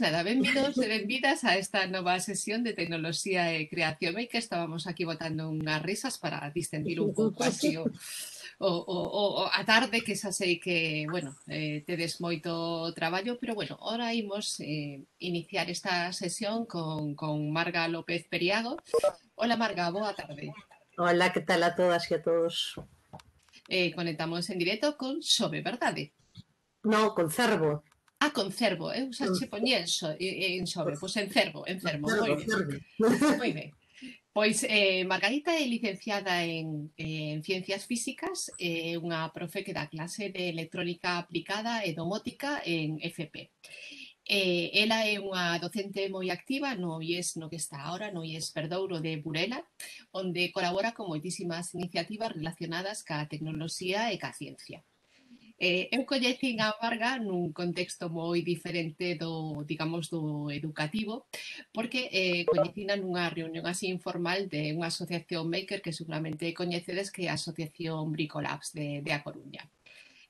nada, benvidos e benvidas a esta nova sesión de Tecnoloxía e Creación Maker. Estábamos aquí botando unhas risas para distendir un pouco así a tarde, que xa sei que, bueno, tedes moito traballo, pero bueno, ahora imos iniciar esta sesión con Marga López Periago. Hola Marga, boa tarde. Hola, que tal a todas e a todos? Conectamos en directo con Xove, verdade? No, con Cervo. Con Cervo, eu xa che poñía en Xove, pois en Cervo, moi ben. Moi ben. Pois Margarita é licenciada en Ciencias Físicas, é unha profe que dá clase de Electrónica Aplicada e Domótica en FP. Ela é unha docente moi activa no IES no que está ahora, no IES Perdouro de Burela, onde colabora con moitísimas iniciativas relacionadas ca tecnoloxía e ca ciencia. Eu coñecín a Marga nun contexto moi diferente do, digamos, do educativo, porque coñecina nunha reunión así informal de unha asociación maker que seguramente coñecedes, que é a Asociación Bricolabs de A Coruña.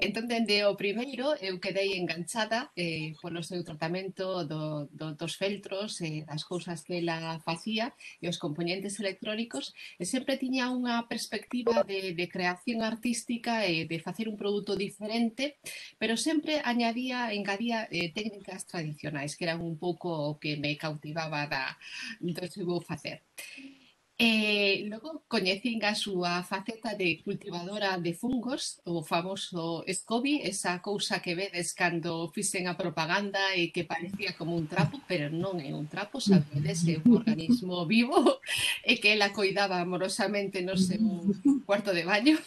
Entón, dende o primeiro, eu quedei enganchada polo seu tratamento dos feltros, das cousas que ela facía e os componentes electrónicos, e sempre tiña unha perspectiva de creación artística e de facer un produto diferente, pero sempre engadía técnicas tradicionais, que eran un pouco o que me cautivaba do seu facer. Logo coñecín a súa faceta de cultivadora de fungos, o famoso SCOBY, esa cousa que vedes cando fixen a propaganda e que parecía como un trapo, pero non é un trapo, sabedes, é un organismo vivo e que ela coidaba amorosamente no seu cuarto de baño.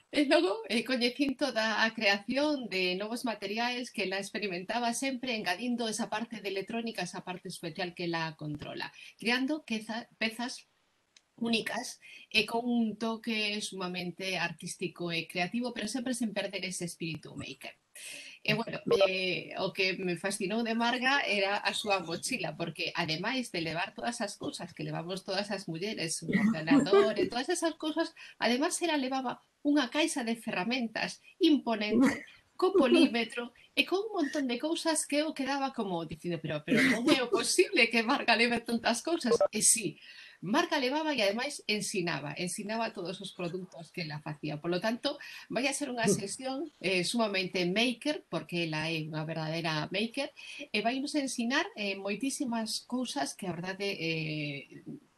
E logo coñecín toda a creación de novos materiais que ela experimentaba sempre engadindo esa parte de electrónica, esa parte especial que ela controla, creando pezas únicas e con un toque sumamente artístico e creativo, pero sempre sen perder ese espírito maker. E, bueno, o que me fascinou de Marga era a súa mochila, porque ademais de levar todas as cousas que levamos todas as mulleres, un ordenador e todas esas cousas, ademais ela levaba unha caixa de ferramentas imponente, co polímetro e con un montón de cousas que eu quedaba como dicindo, pero como é o posible que Marga leve tantas cousas? E sí, Marga levaba e ademais ensinaba todos os produtos que ela facía. Por lo tanto, vai a ser unha sesión sumamente maker, porque ela é unha verdadeira maker, e vai nos ensinar moitísimas cousas que a verdade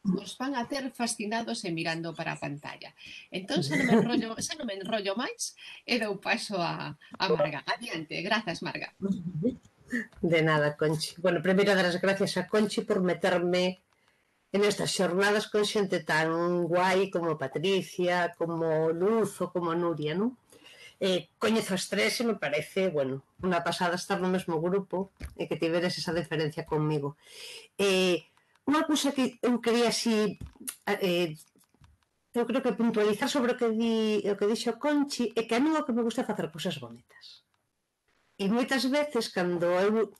nos van a ter fascinados e mirando para a pantalla. Entón, xa non me enrollo máis e dou paso a Marga. Adiante, grazas Marga. De nada, Conchi. Bueno, primeiro dar as gracias a Conchi por meterme en estas xornadas con xente tan guai como Patricia, como Luz ou como Nuria, non? Coñezo as tres e me parece, bueno, unha pasada estar no mesmo grupo e que tiveres esa diferencia conmigo. Unha cousa que eu quería así, eu creo que puntualizar sobre o que dixo Conchi, é que a mí o que me gusta é facer cousas bonitas. E moitas veces, cando eu,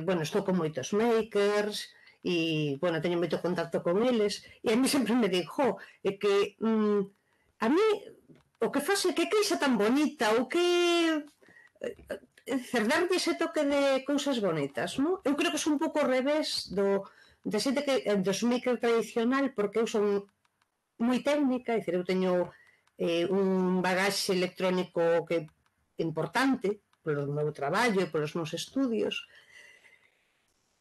bueno, estou con moitos makers, e, bueno, teño moito contacto con eles, e a mí sempre me digo, é que a mí o que faz é que queixa tan bonita, ou que darlle ese toque de cousas bonitas, non? Eu creo que é un pouco ao revés da xente que dos maker tradicional, porque eu son moi técnica, é dicir, eu teño un bagaxe electrónico que é importante polo meu traballo e polos meus estudios,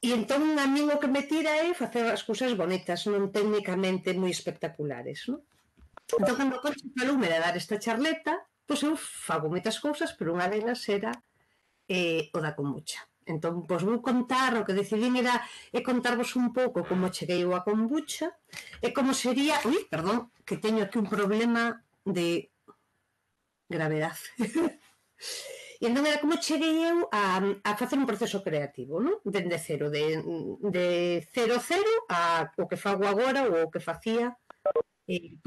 e entón a min o que me tira é facer as cousas bonitas, non técnicamente moi espectaculares, non? Entón, cando o Conchi faloume de dar esta charleta, pois eu fago moitas cousas, pero unha delas era o da kombucha. Entón, pois vou contar, o que decidín era contarvos un pouco como cheguei eu a kombucha e como sería... Ui, perdón, que teño aquí un problema de gravedade. E entón era como cheguei eu a facer un proceso creativo, non? Dende cero, de cero o que fago agora ou o que facía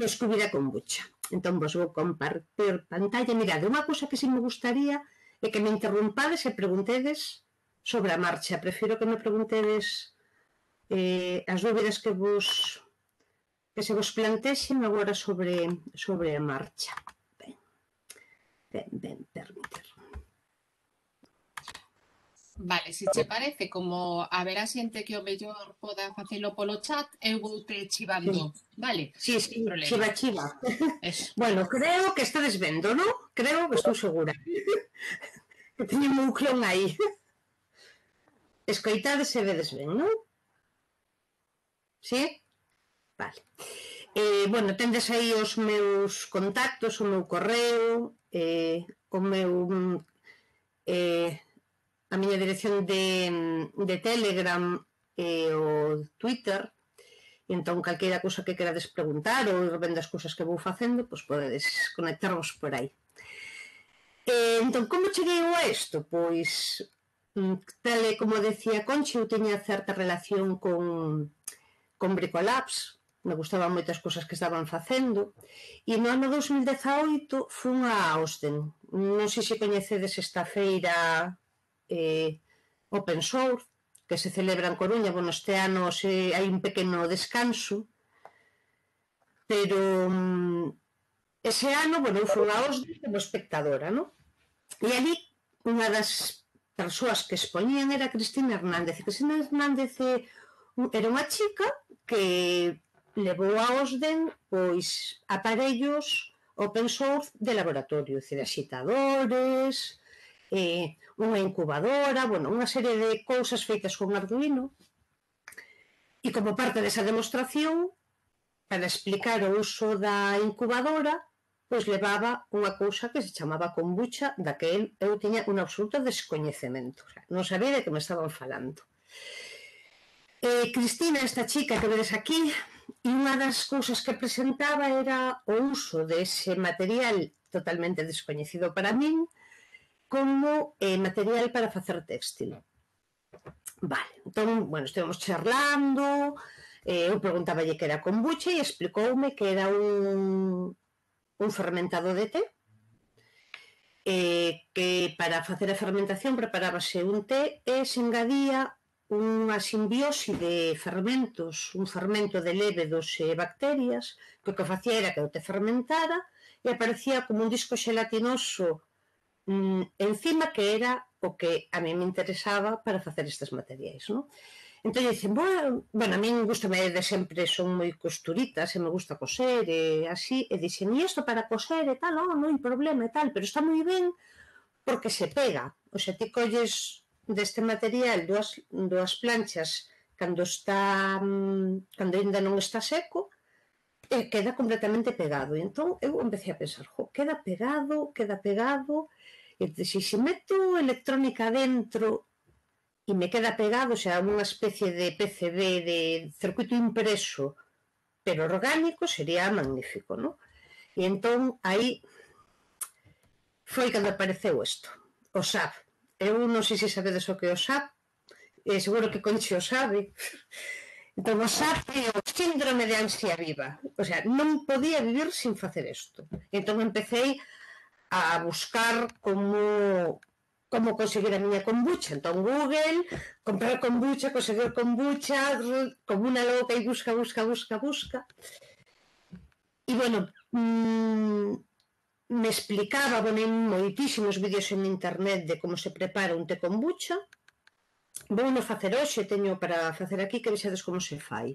pois que hubiera kombucha. Entón vos vou compartir pantalla. Mirade, unha cousa que si me gustaría é que me interrumpades e preguntedes sobre a marcha. Prefiro que me preguntedes as dúbidas que se vos plantexen agora sobre a marcha. Ben, permitir. Vale, se che parece, como haberá xente que o mellor poda facelo polo chat, eu vou te chivando, Sí, vale? sí, Sin sí, problema. chiva, chiva. Eso. Bueno, creo que estades vendo, non? Creo que estou segura. Que teño un clon aí. Escoitades e vedes ben, non? Sí? Vale. Bueno, tendes aí os meus contactos, o meu correo, o meu eh, a miña dirección de Telegram e o Twitter. E entón, calqueira cousa que querades preguntar ou ben das cousas que vou facendo, pois podedes conectarvos por aí. Entón, como cheguei eu a isto? Pois, tal e como decía Conchi, eu teña certa relación con Bricolabs, me gustaban moitas cousas que estaban facendo, e no ano 2018 fun a Austin. Non sei se coñecedes esta feira Open Source, que se celebra en Coruña. Bueno, este ano hai un pequeno descanso, pero ese ano, bueno, eu fui a Austin como espectadora, non? E ali unha das persoas que expoñían era Cristina Hernández. Cristina Hernández era unha chica que levou a Osden pois aparellos open source de laboratorio, decir, axitadores, unha incubadora, bueno, unha serie de cousas feitas con Arduino, e como parte desa demostración, para explicar o uso da incubadora, pois levaba unha cousa que se chamaba kombucha, da que eu tiña un absoluto descoñecemento, o sea, non sabía de que me estaban falando. Cristina, esta chica que vedes aquí, e unha das cousas que presentaba era o uso dese material totalmente descoñecido para min como material para facer téxtil. Vale, entón, bueno, estivemos charlando, eu preguntaballe que era kombucha e explicoume que era un fermentado de té, que para facer a fermentación preparábase un té e se engadía unha simbiose de fermentos, un fermento de lévedos e bacterias, que o que facía era que o té fermentara e aparecía como un disco xelatinoso encima, que era o que a mí me interesaba para facer estes materiais, non? Entón dicen, bueno, a min gustame de sempre, son moi costuritas e me gusta coser e así, e dixen, e isto para coser e tal, non hai problema e tal, pero está moi ben porque se pega, o sea, ti colles deste material dúas planchas cando ainda non está seco e queda completamente pegado. E entón eu empecé a pensar, queda pegado, e se meto electrónica dentro e me queda pegado, o sea, unha especie de PCB, de circuito impreso, pero orgánico, sería magnífico, non? E entón, aí foi cando apareceu isto, o SAP. Eu non sei se sabedes o que é o SAP, seguro que Conchi o sabe. Entón, o SAP é o síndrome de ansia viva. O sea, non podía vivir sin facer isto. Entón, empecéi a buscar como conseguir a miña kombucha. Entón, Google, comprar kombucha, conseguir kombucha, como unha loca e busca. E, bueno, me explicaba, bueno, hai moitísimos vídeos en internet de como se prepara un té kombucha. Vou non facer hoxe, teño para facer aquí, que vexades como se fai.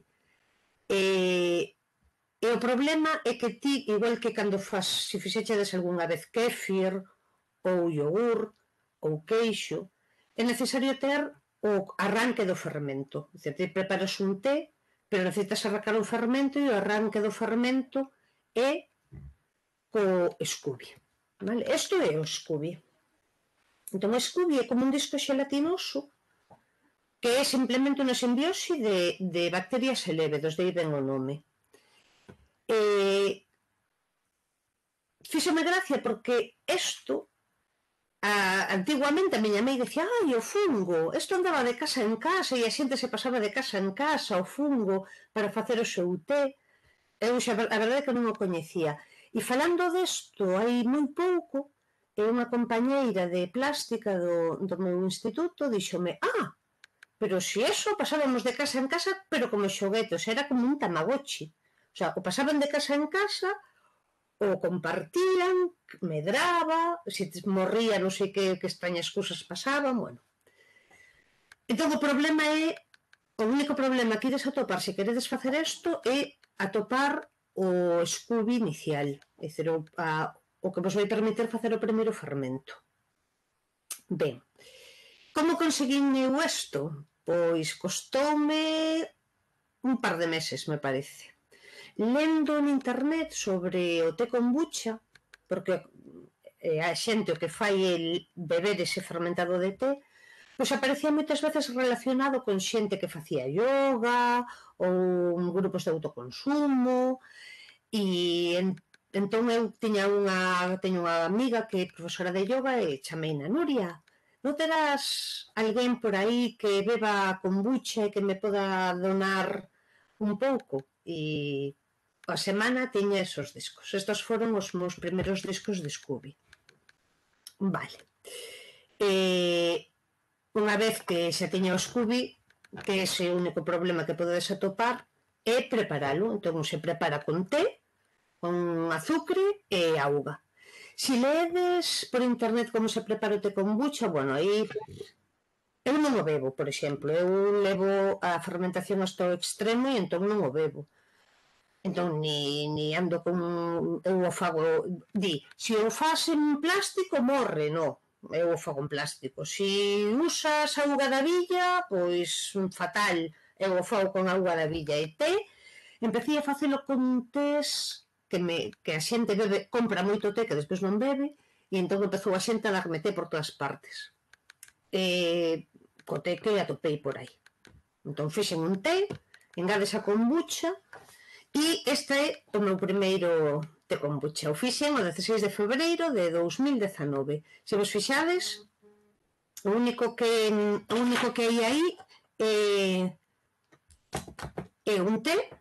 E o problema é que ti, igual que cando se fixechedes algunha vez kéfir ou yogur ou queixo, é necesario ter o arranque do fermento. É dicir, ti preparas un té, pero necesitas arrancar o fermento e o arranque do fermento é co Scooby. Vale? Isto é o Scooby. Entón, o Scooby é como un disco xelatinoso que é simplemente unha simbiose de bacterias e lévedos, de aí ven o nome. Fíxome gracia porque isto, antiguamente a miña mãe decía, o fungo, isto andaba de casa en casa e a xente se pasaba de casa en casa o fungo para facer o seu té. Eu xa, a verdade é que non o coñecía. E falando desto, hai moi pouco, unha compañeira de plástica do meu instituto díxome, pero se eso pasábamos de casa en casa, pero como xoguetos, era como un tamagotchi. O sea, o pasaban de casa en casa, o compartían, medraba, se morría non sei que extrañas cousas pasaban, bueno. Entón, o único problema que ides atopar se queredes facer isto é atopar o Scooby inicial, é dicir, o que vos vai permitir facer o primeiro fermento. Ben, como conseguín eu isto? Pois costoume un par de meses, me parece. Lendo en internet sobre o té kombucha, porque a xente o que fai é beber ese fermentado de té, pois aparecía moitas veces relacionado con xente que facía yoga ou grupos de autoconsumo, e entón eu teño unha amiga que é profesora de yoga e chameina: Nuria, non terás alguén por aí que beba kombucha e que me poda donar un pouco? E a semana tiña esos discos. Estos foron os meus primeiros discos de Scooby. Vale. Unha vez que xa tiña o Scooby, que ese é o único problema que podedes atopar, é preparalo. Entón se prepara con té, con azucre e auga. Se ledes por internet como se prepara o té kombucha, bueno, aí eu non o bebo, por exemplo. Eu levo a fermentación hasta o extremo e entón non o bebo. Entón, ni ando con... Eu o fago... se o faz en plástico, morre, non. Eu o fago en plástico. Se usas auga da villa, pois fatal. Eu o fago con auga da villa e té. Empecé a facelo con tés que a xente compra moito té que despois non bebe, e entón empezou a xente a darme té por todas partes. Co té que atopei por aí. Entón fixen un té, engades a kombucha, e este é o meu primeiro té kombucha. O fixen o 16 de febreiro de 2019. Se vos fixades, o único que hai aí é un té,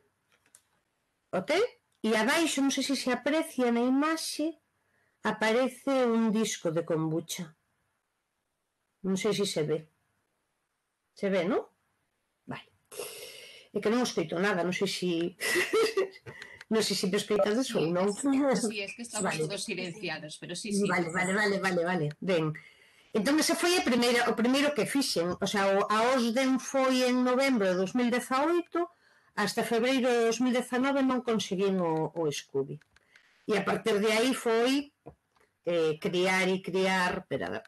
o té, e abaixo, non sei se se aprecia na imaxe, aparece un disco de kombucha. Non sei se se ve. Se ve, non? Vale. É que non escoito nada, non sei se... non sei se me escoitades ou non. Sí, es que estamos todos silenciados, pero sí. Vale. Ben, entón ese foi o primeiro que fixen. O sea, a OSDEN foi en novembro de 2018, hasta febreiro de 2019 non conseguín o Scooby. E a partir de aí foi criar... Espera,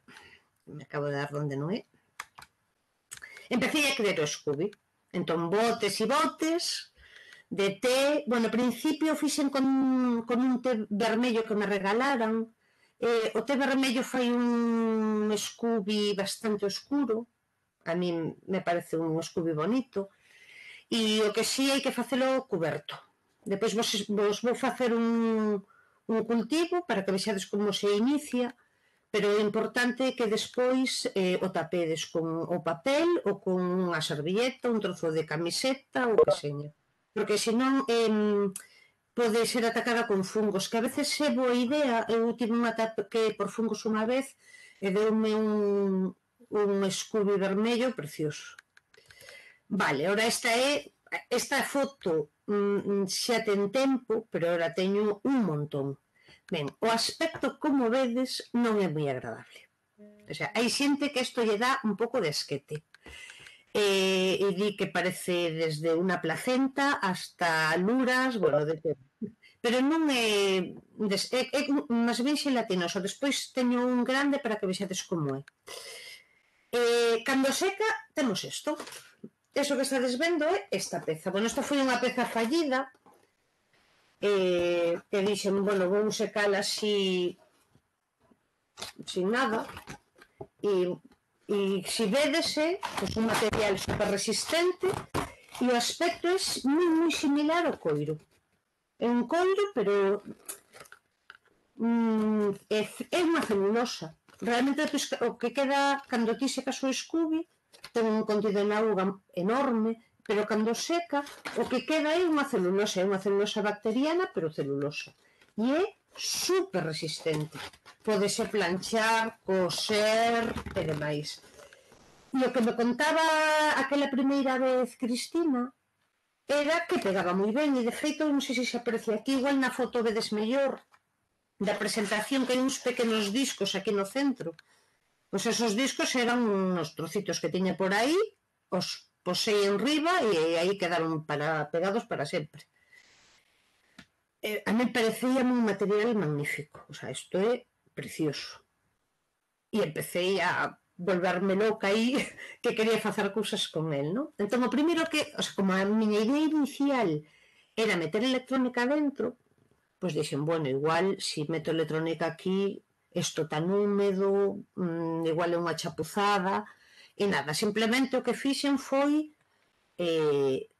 me acabo de dar onde non é. Empecé a crear o Scooby. Entón, botes e botes de té. Bueno, ao principio fixen con un té vermello que me regalaran. O té vermello fai un Scooby bastante oscuro. A mí me parece un Scooby bonito. E o que sí hai que facelo cuberto. Depois vos vou facer un cultivo para que vexades como se inicia, pero o importante é que despois o tapedes con o papel ou con unha servilleta, un trozo de camiseta ou que seña. Porque senón pode ser atacada con fungos, que a veces é boa idea. Eu tive un ataque por fungos unha vez e deume un Scooby vermello precioso. Vale, ora esta foto xa ten tempo, pero ora teño un montón. Ben, o aspecto, como vedes, non é moi agradable. O sea, hai xente que isto lle dá un pouco de asquete. E di que parece desde unha placenta hasta luras, bueno, de todo. Pero non é máis ben xelatinoso. Despois teño un grande para que vexades como é. Cando seca, temos isto. Eso que estades vendo é esta peza. Bueno, esta foi unha peza fallida, que dixen, bueno, vou secala así sin nada, e se vedese, pois un material super resistente, e o aspecto é moi similar ao coiro. É un coiro, pero é unha celulosa. Realmente o que queda cando ti secas o Scooby ten un contido en auga enorme, pero cando seca o que queda é unha celulosa bacteriana, pero celulosa. E é super resistente. Pódese planchar, coser e demais. E o que me contaba aquela primeira vez Cristina era que pegaba moi ben, e de feito, non sei se se aprecia aquí, igual na foto vedes mellor da presentación, que hai uns pequenos discos aquí no centro, Pois esos discos eran uns trocitos que tiña por aí, os posei en riba e aí quedaron pegados para sempre. A mí parecía un material magnífico, o sea, isto é precioso. E empecé a volverme loca aí que quería facer cousas con el, non? Entón, o primeiro que, o sea, como a miña idea inicial era meter electrónica dentro, pois dixen, bueno, igual, se meto electrónica aquí, isto tan húmedo, igual é unha chapuzada, e nada, simplemente o que fixen foi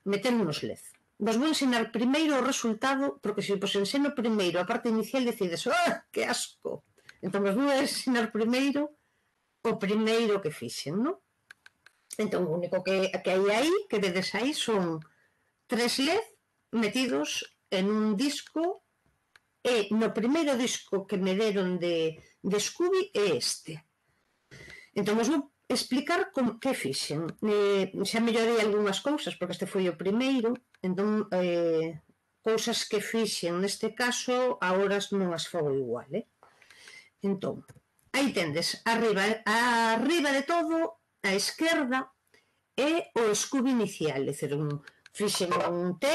meter unos LED. Vos vou ensinar primeiro o resultado, porque se vos ensino primeiro a parte inicial decides, que asco. Entón vos vou ensinar primeiro o primeiro que fixen, non? Entón o único que hai aí, que vedes aí, son 3 LED metidos en un disco, e no primeiro disco que me deron de Scooby é este. Entón vos vou explicar que fixen. Xa mellorei algunhas cousas, porque este foi o primeiro, entón cousas que fixen neste caso agora non as fago igual, Entón, aí tendes arriba de todo, á esquerda, é o Scooby inicial, é dicir, fixen un T,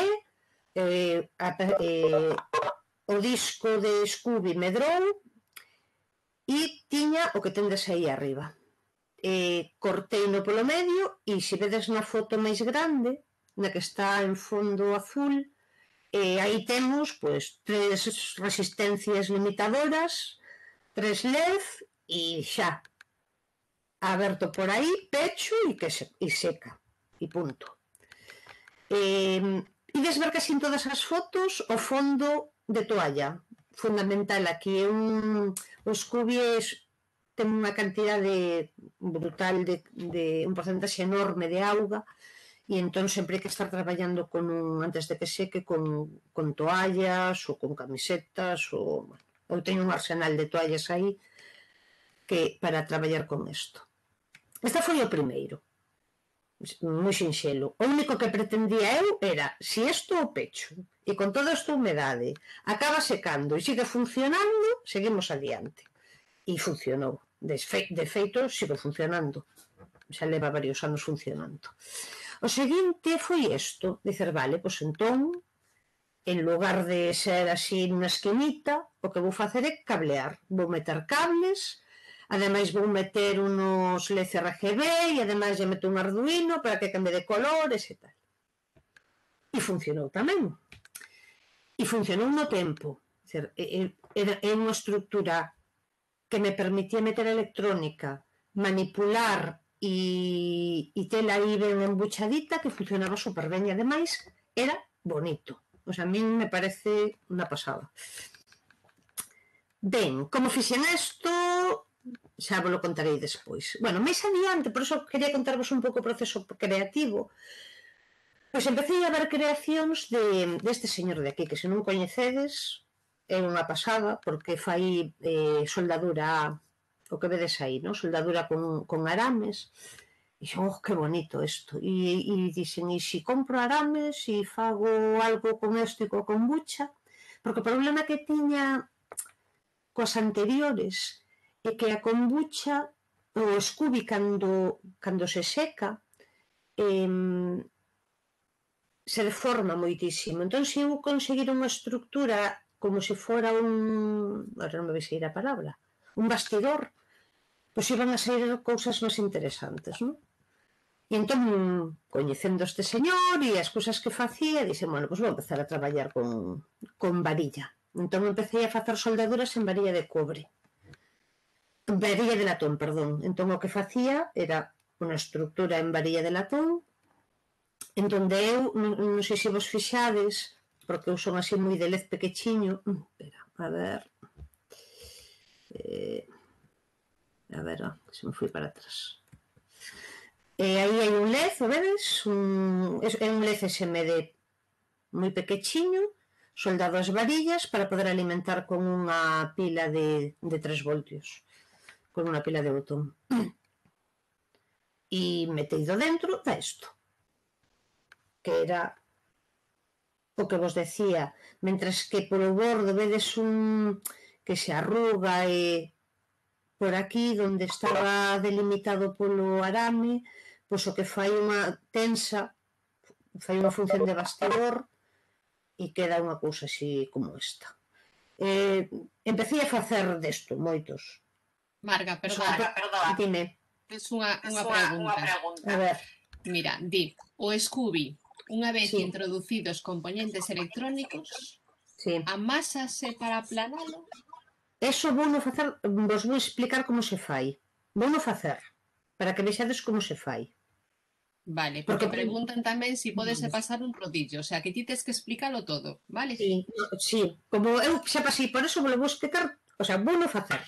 o disco de Scooby medrou e tiña o que tendes aí arriba. Corteino polo medio e se vedes na foto máis grande, na que está en fondo azul, aí temos pois 3 resistencias limitadoras, 3 LED e xa. Aberto por aí, pecho e seca. E punto. Ides ver que en todas as fotos o fondo de toalla. Fundamental aquí é o Scooby ten unha cantidade brutal de un porcentaxe enorme de auga e entón sempre hai que estar traballando antes de que seque con toallas ou con camisetas ou eu teño un arsenal de toallas aí que para traballar con isto. Este foi o primeiro, moi sinxelo. O único que pretendía eu era, se isto o pecho e con toda esta humedade acaba secando e sigue funcionando, seguimos adiante. E funcionou. De feito, sigo funcionando. Xa leva varios anos funcionando. O seguinte foi isto, dicer, vale, pois entón, en lugar de ser así nunha esquinita, o que vou facer é cablear. Vou meter cables, ademais vou meter unos LED RGB e ademais lle meto un Arduino para que cambie de colores e tal. E funcionou tamén. E funcionou no tempo. É unha estructura que me permitía meter electrónica, manipular e tela aí ben embuchadita, que funcionaba super ben e ademais era bonito. O sea, a mí me parece unha pasada. Ben, como fixen isto, xa vos lo contarei despois. Bueno, máis adiante, por iso quería contarvos un pouco o proceso creativo. Pois empecé a ver creacións deste señor de aquí, que se non coñecedes, é unha pasada, porque fai soldadura, o que vedes aí, non? Soldadura con arames, e xo, que bonito isto. E dixen, e se compro arames e fago algo con isto e coa kombucha, porque o problema que tiña coas anteriores é que a kombucha, o Scooby, cando se seca, se deforma moitísimo. Entón, se eu conseguir unha estructura como se fora agora non me vai sair a palabra, un bastidor, pois iban a sair cousas máis interesantes, non? E entón, coñecendo este señor e as cousas que facía, dixen, bueno, pois vou empezar a traballar con varilla. Entón empecé a facer soldaduras en varilla de cobre. Varilla de latón, perdón. Entón o que facía era unha estructura en varilla de latón, en donde eu, non sei se vos fixades, porque eu son así moi de LED pequechiño, espera, a ver, se me fui para atrás. Aí hai un LED, o vedes? É un LED SMD moi pequechiño, soldado as varillas para poder alimentar con unha pila de 3 voltios, con unha pila de botón. E meteido dentro da isto, que era o que vos decía, mentres que polo bordo vedes que se arruga e por aquí, onde estaba delimitado polo arame, pois o que fai unha tensa, fai unha función de bastidor e queda unha cousa así como esta. Empecé a facer desto, moitos. Marga, perdona, Dime. tes unha pregunta. A ver. Mira, di, o Scooby, unha vez Sí. introducidos componentes electrónicos, Sí. amásase para aplanalo? Eso vouno facer, vos vou explicar como se fai. Vouno facer, para que vexades como se fai. Vale, porque preguntan tamén se podese pasar un rodillo, o sea, que ti tes que explícalo todo, vale? Sí, como eu xa pasei por eso, vos vou explicar, o sea, vouno facer.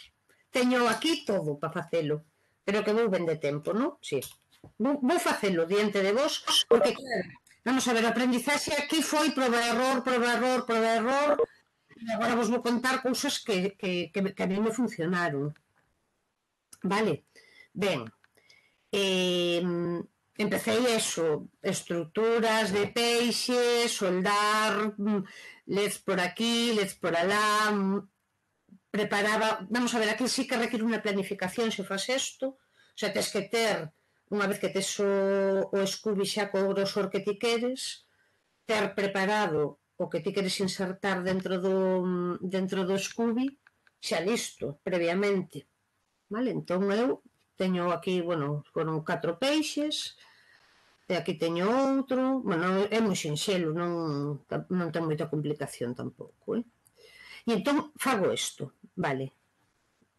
Teño aquí todo para facelo, pero que vou ben de tempo, non? Sí. Vou facelo diante de vos, porque, claro, vamos a ver, a aprendizaxe aquí foi proba error, e agora vos vou contar cousas que a mí me funcionaron. Vale? Ben, empecé eso, estruturas de peixes, soldar, leds por aquí, leds por alá, preparaba, vamos a ver, aquí sí que requiere unha planificación se faz isto, o sea, tes que ter, unha vez que tes o Scooby xa co grosor que ti queres, ter preparado o que ti queres insertar dentro do Scooby xa listo, previamente. Vale, entón eu teño aquí, bueno, foron 4 peixes, e aquí teño outro, bueno, é moi sinxelo, non ten moita complicación tampouco, E entón fago isto, vale.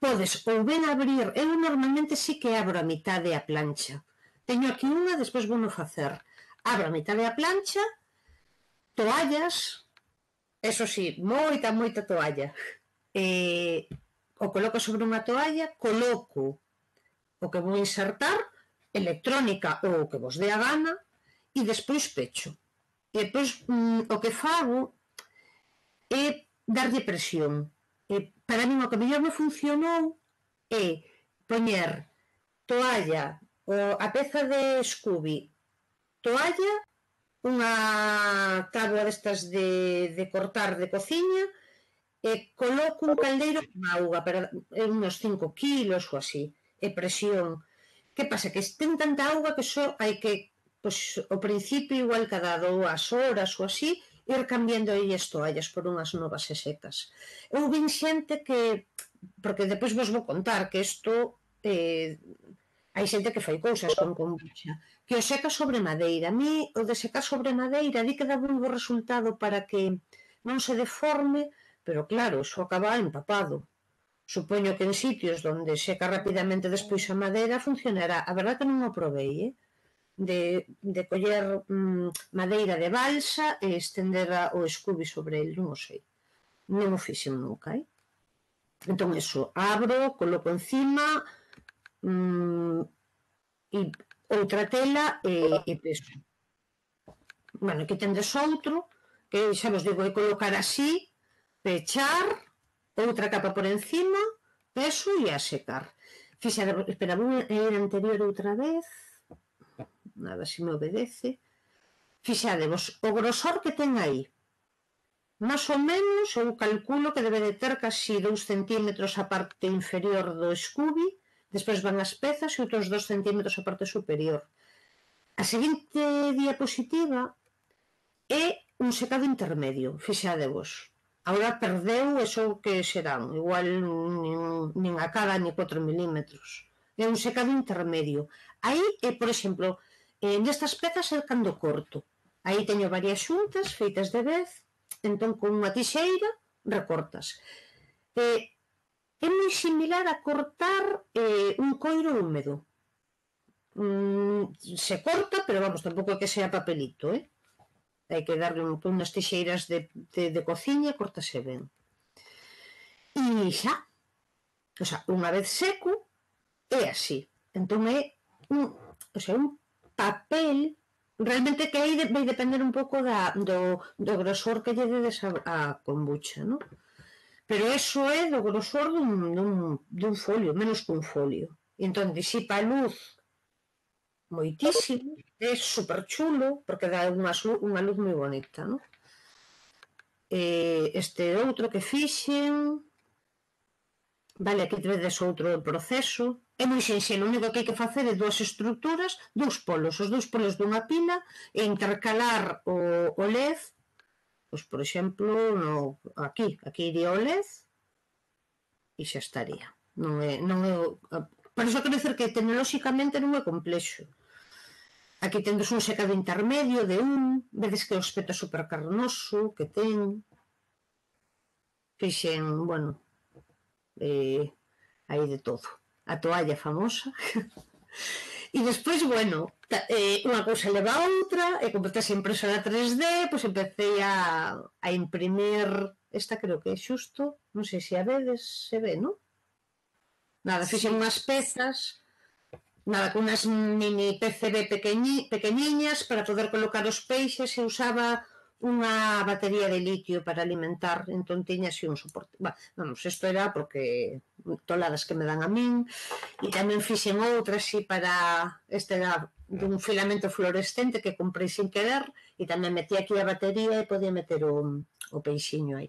Podes ou ben abrir, eu normalmente sí que abro a mitade a plancha. Teño aquí unha, despois vou no facer. Abro a mitade a plancha, toallas, eso sí, moita toalla. O coloco sobre unha toalla, coloco o que vou insertar, electrónica ou o que vos dé a gana, e despois pecho. E despois o que fago é darlle presión. Para min o que mellor me funcionou é poñer toalla, a peza de Scooby, toalla, unha táboa destas de cortar de cociña, e coloco un caldeiro con auga, para uns 5 kilos ou así, e presión. Que pasa? Que ten tanta auga que só hai que, pois, ao principio, igual cada 2 horas ou así, ir cambiando aí as toallas por unhas novas e secas. Eu vin xente que, porque depois vos vou contar que isto, hai xente que fai cousas con kombucha, que o seca sobre madeira. A mí, o de secar sobre madeira, di que dá un bo resultado para que non se deforme, pero claro, iso acaba empapado. Supoño que en sitios onde seca rapidamente despois a madeira funcionará. A verdade que non o provei, de coller madeira de balsa e estender o Scooby sobre el, non o sei. Non o fixen nunca, Entón, eso, abro, coloco encima, e outra tela e peso. Bueno, que tendes outro, que xa vos digo, é colocar así, pechar, outra capa por encima, peso e a secar. Fixade, espera, vou ir anterior outra vez, nada, se me obedece. Fixadevos, o grosor que ten aí, más ou menos, eu calculo que debe de ter casi 2 centímetros a parte inferior do Scooby, despois van as pezas e outros 2 centímetros a parte superior. A seguinte diapositiva é un secado intermedio, fixadevos. Agora perdeu eso que serán, igual nin a cada ni 4 milímetros. É un secado intermedio. Aí, por exemplo, nestas pezas é cando corto. Aí teño varias xuntas feitas de vez, entón con unha tixeira recortas. É moi similar a cortar un coiro húmedo. Se corta, pero vamos, tampouco é que sea papelito, hai que darle unhas tixeiras de cociña e cortase ben. E xa, o sea, unha vez seco, é así. Entón é un papel, realmente que aí vai depender un pouco do grosor que lle dedes a kombucha, non? Pero eso é do grosor dun folio, menos que un folio. Entón disipa a luz moitísimo, é super chulo, porque dá unha luz moi bonita, non? Este outro que fixen, Vale, aquí vedes outro proceso. É moi sinxelo, o único que hai que facer é dúas estruturas, dous polos, os dous polos dunha pila, e intercalar o LED, pois, por exemplo, aquí iría o LED, e xa estaría. Non é por iso quero dizer que tecnolóxicamente non é complexo. Aquí tendes un secado intermedio de vedes que o aspecto super carnoso que ten. Fixen, bueno, hai de todo. A toalla famosa. E despois, bueno, unha cousa leva a outra, e como estás impresora 3D, pois empecé a imprimir, esta creo que é xusto, non sei se a vedes, se ve, non? Nada, fixen unhas pezas, nada, con unhas mini PCB pequeniñas para poder colocar os peixes, e usaba unha batería de litio para alimentar, entón tiña así un soporte. Vamos, isto era porque toladas que me dan a min, e tamén fixen outra así para, este era dun filamento fluorescente que comprei sin querer, e tamén metí aquí a batería e podía meter o peixiño aí.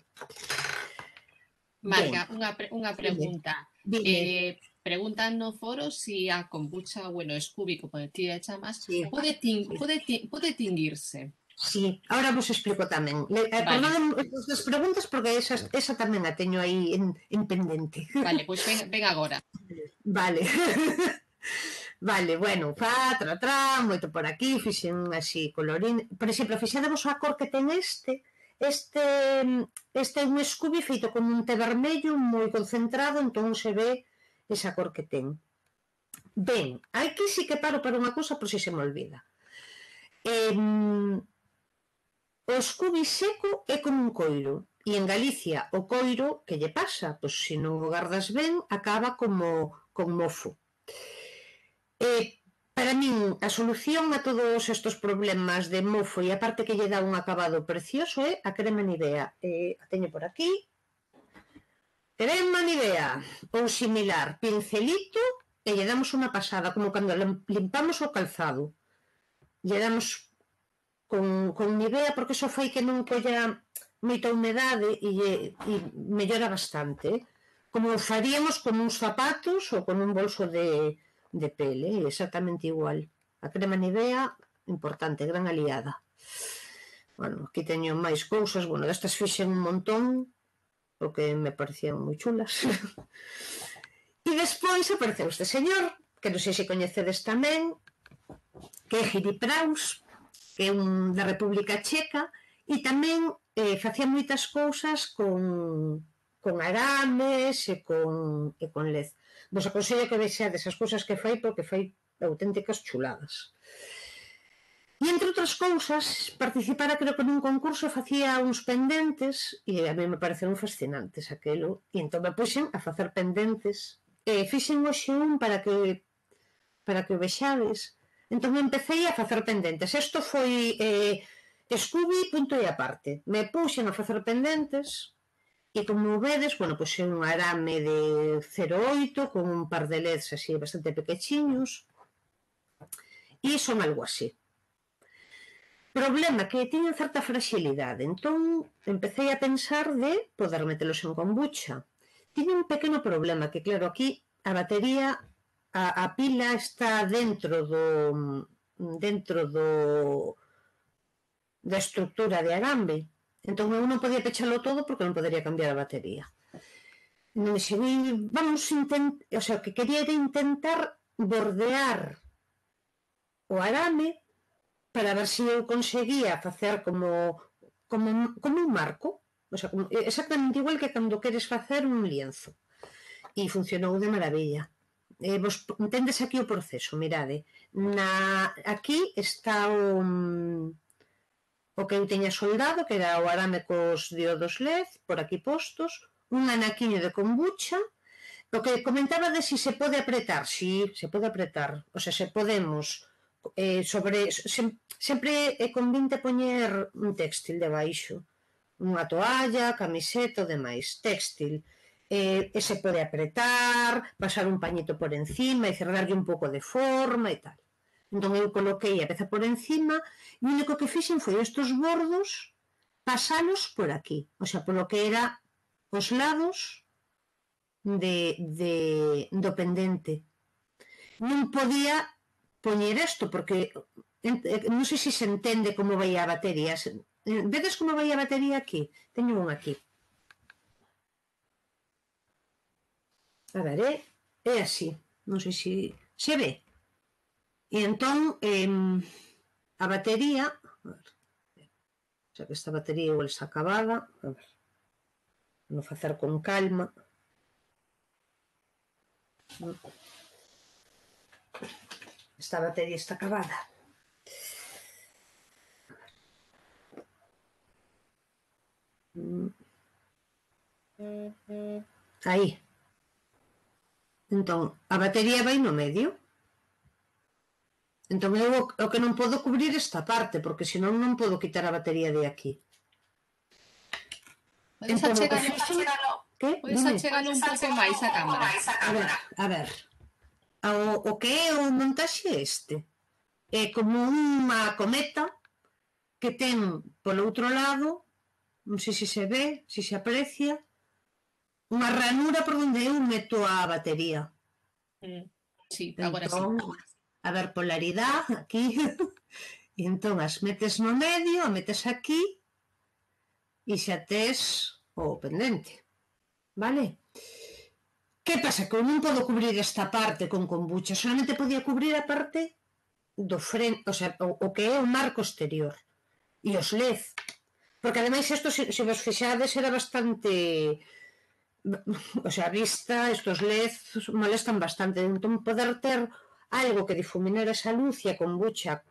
Marga, unha pregunta. Dime. Preguntan no foro si a kombucha, bueno, Scooby, como ti a chamas, Sí. pode tinguirse. Sí, ahora vos explico tamén. Perdón as preguntas porque esa tamén a teño aí en pendente. Vale, pois ven agora. Vale. Vale, bueno, moito por aquí, fixen así colorín. Por exemplo, fixadevos a cor que ten este é un Scooby feito con un té vermello moi concentrado, entón se ve esa cor que ten. Ben, aquí sí que paro para unha cousa por si se me olvida. O Scooby seco é como un coiro, e en Galicia o coiro, que lle pasa? Pois se non o gardas ben, acaba como con mofo. Para min, a solución a todos estes problemas de mofo e a parte que lle dá un acabado precioso é a crema Nivea. A teño por aquí. Crema Nivea, ou similar, pincelito, e lle damos unha pasada, como cando limpamos o calzado. Lle damos con Nivea, porque iso fai que non colla moita humedade e mellora bastante. Como faríamos con uns zapatos ou con un bolso de pele, exactamente igual. A crema Nivea, importante, gran aliada. Bueno, aquí teño máis cousas, bueno, destas fixen un montón, porque me parecían moi chulas. E despois apareceu este señor, que non sei se coñecedes tamén, que é Giri Praus, que é un da República Checa, e tamén facía moitas cousas con arames e con LED. Vos aconsello que vexades as cousas que fai, porque fai auténticas chuladas. E entre outras cousas, participara creo que nun concurso, facía uns pendentes, e a mí me pareceron fascinantes aquelo, e entón me puxen a facer pendentes. Fixen hoxe un para que o vexades. Entón empecé a facer pendentes. Isto foi Scooby, punto e aparte. Me puxen a facer pendentes, e como vedes, bueno, pois é un arame de 0,8 con un par de LEDs así bastante pequechiños, e son algo así. Problema que tiñen certa fragilidade, entón empecé a pensar de poder metelos en kombucha. Tiñe un pequeno problema, que claro, aquí a batería, a pila está dentro da estrutura de arambe, entón eu non podía pechalo todo porque non podería cambiar a batería. O sea, o que quería era intentar bordear o arame para ver se eu conseguía facer como un marco, o sea, exactamente igual que cando queres facer un lienzo. E funcionou de maravilla. Vos entendes aquí o proceso, mirade. Aquí está o que eu teña soldado, que era o arame cos diodos LED, por aquí postos, un anaquiño de kombucha. O que comentaba de si se pode apretar, si, se pode apretar. O sea, se podemos sempre convinte poñer un téxtil debaixo, unha toalla, camiseta, o demais, téxtil, e se pode apretar, pasar un pañito por encima e cerrarlle un pouco de forma e tal. Entón eu coloquei a peza por encima e o único que fixen foi estes bordos pasalos por aquí, o sea, polo que era os lados do pendente. Non podía poñer isto, porque non sei se se entende como vai a batería. Vedes como vai a batería aquí? Teño un aquí. A ver, é así. Non sei se ve. E entón, a batería... A ver, xa que esta batería igual está acabada. A ver, vou facer con calma. Esta batería está acabada. Aí. Entón, a batería vai no medio. Entón, eu o que non podo cubrir esta parte, porque senón non podo quitar a batería de aquí. Podes achegalo un pouco máis a cámara. A ver. O que é o montaxe este? É como unha cometa que ten polo outro lado, non sei se se ve, se se aprecia, unha ranura por onde eu meto a batería. Sí, agora sí. A ver, polaridade, aquí. E entón as metes no medio, a metes aquí e xa tes o pendente. Vale? Que pasa? Que eu non podo cubrir esta parte con kombucha, solamente podía cubrir a parte do frente, o sea, o que é o marco exterior e os LED, porque ademais isto, se vos fixades, era bastante, o sea, a vista, estos LED molestan bastante, entón poder ter algo que difuminara esa luz, e a kombucha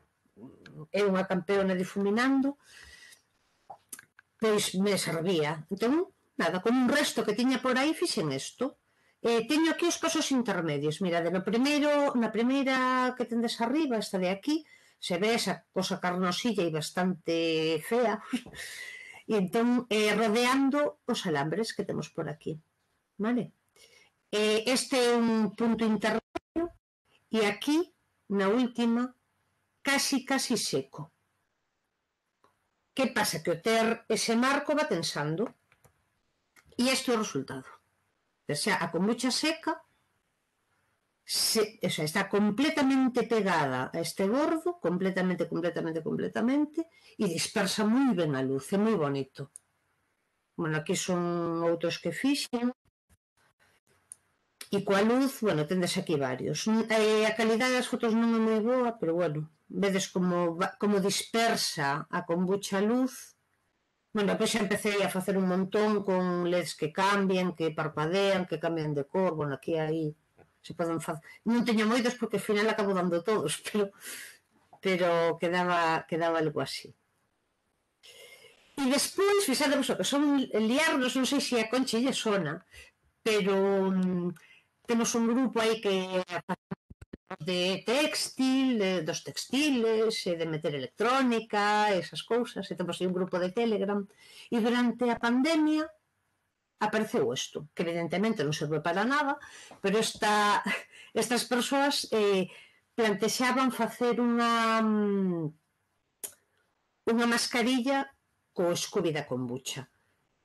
é unha campeona difuminando, pois me servía. Entón, nada, con un resto que tiña por aí fixen isto. Teño aquí os pasos intermedios. Mirade, na primeira que tendes arriba, esta de aquí, se ve esa cosa carnosilla e bastante fea, e entón rodeando os alambres que temos por aquí. Vale? Este é un punto intermedio, e aquí, na última, casi seco. Que pasa? Que o ter ese marco va tensando, e este é o resultado. O sea, a kombucha seca está completamente pegada a este bordo, completamente, e dispersa moi ben a luz, é moi bonito. Bueno, aquí son outros que fixen, e coa luz, bueno, tendes aquí varios. A calidade das fotos non é moi boa, pero bueno, vedes como dispersa a kombucha a luz. Bueno, depois xa empecé a facer un montón con LEDs que cambian, que parpadean, que cambian de cor. Bueno, aquí aí se poden facer. Non teño moitos porque ao final acabo dando todos, pero quedaba algo así. E despois, fixadevos o que son liarnos, non sei se a Conchi lle sona, pero temos un grupo aí que de textil, dos textiles, de meter electrónica, esas cousas, e temos aí un grupo de Telegram, e durante a pandemia apareceu isto, que evidentemente non serve para nada, pero estas persoas plantexaban facer unha mascarilla co Scooby da kombucha,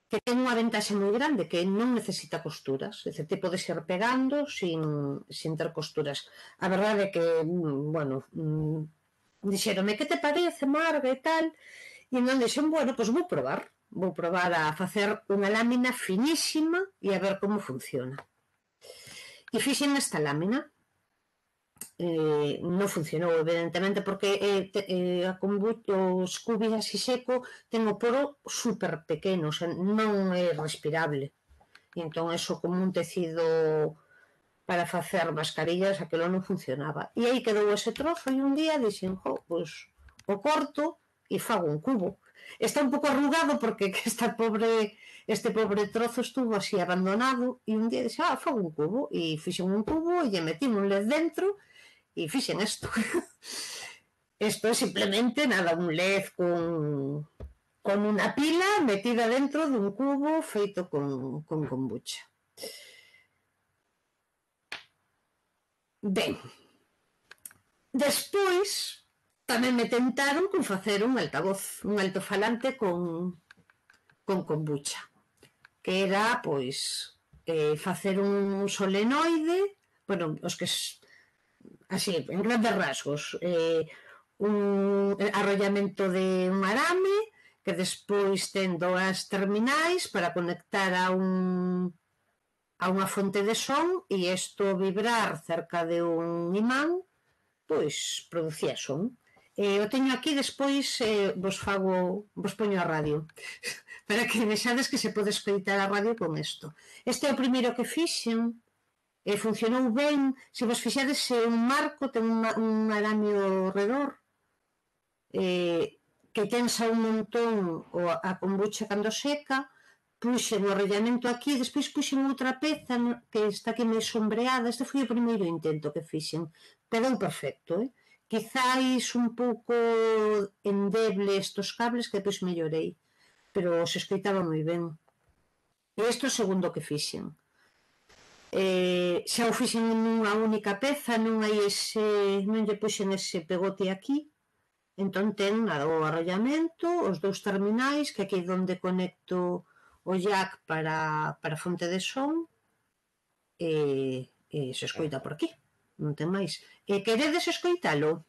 que ten unha ventaxe moi grande, que non necesita costuras, é dicir, te podes ir pegando sin ter costuras. A verdade é que, bueno, dixeronme, que te parece, Marga, e tal, e non dixen, bueno, pois vou probar a facer unha lámina finísima e a ver como funciona. E fixen esta lámina. Non funcionou, evidentemente, porque o Scooby así seco ten o poro super pequeno, o sea, non é respirable, e entón eso como un tecido para facer mascarillas, aquilo non funcionaba, e aí quedou ese trozo, e un día dixen, pois o corto e fago un cubo. Está un pouco arrugado porque este pobre trozo estuvo así abandonado, e un día dixen, fago un cubo, e fixen un cubo e lle metín un LED dentro e fixen isto. Isto é simplemente nada, un LED con unha pila metida dentro dun cubo feito con kombucha. Ben, despois tamén me tentaron con facer un altavoz, un altofalante con kombucha, que era, pois, facer un solenoide, bueno, os que así, en grandes rasgos, un arrollamento de un arame que despois ten dúas terminais para conectar a unha fonte de son e isto vibrar cerca de un imán pois producía son. O teño aquí, despois vos poño a radio para que vexades que se pode escoitar a radio con isto. Este é o primeiro que fixen, funcionou ben. Se vos fixades, un marco ten un aramio ao redor que tensa un montón a kombucha cando seca. Puxen o arrollamento aquí, despois puxen outra peza que está aquí máis sombreada. Este foi o primeiro intento que fixen, quedou perfecto, quizáis un pouco endeble estos cables que depois mellorei, pero se escoitaba moi ben. E isto é o segundo que fixen. Xa o fixen nunha única peza, non lle puxen ese pegote aquí. Entón ten o arrollamento, os dous terminais, que aquí é onde conecto o jack para a fonte de son, e se escoita por aquí, non ten máis. Queredes escoitalo?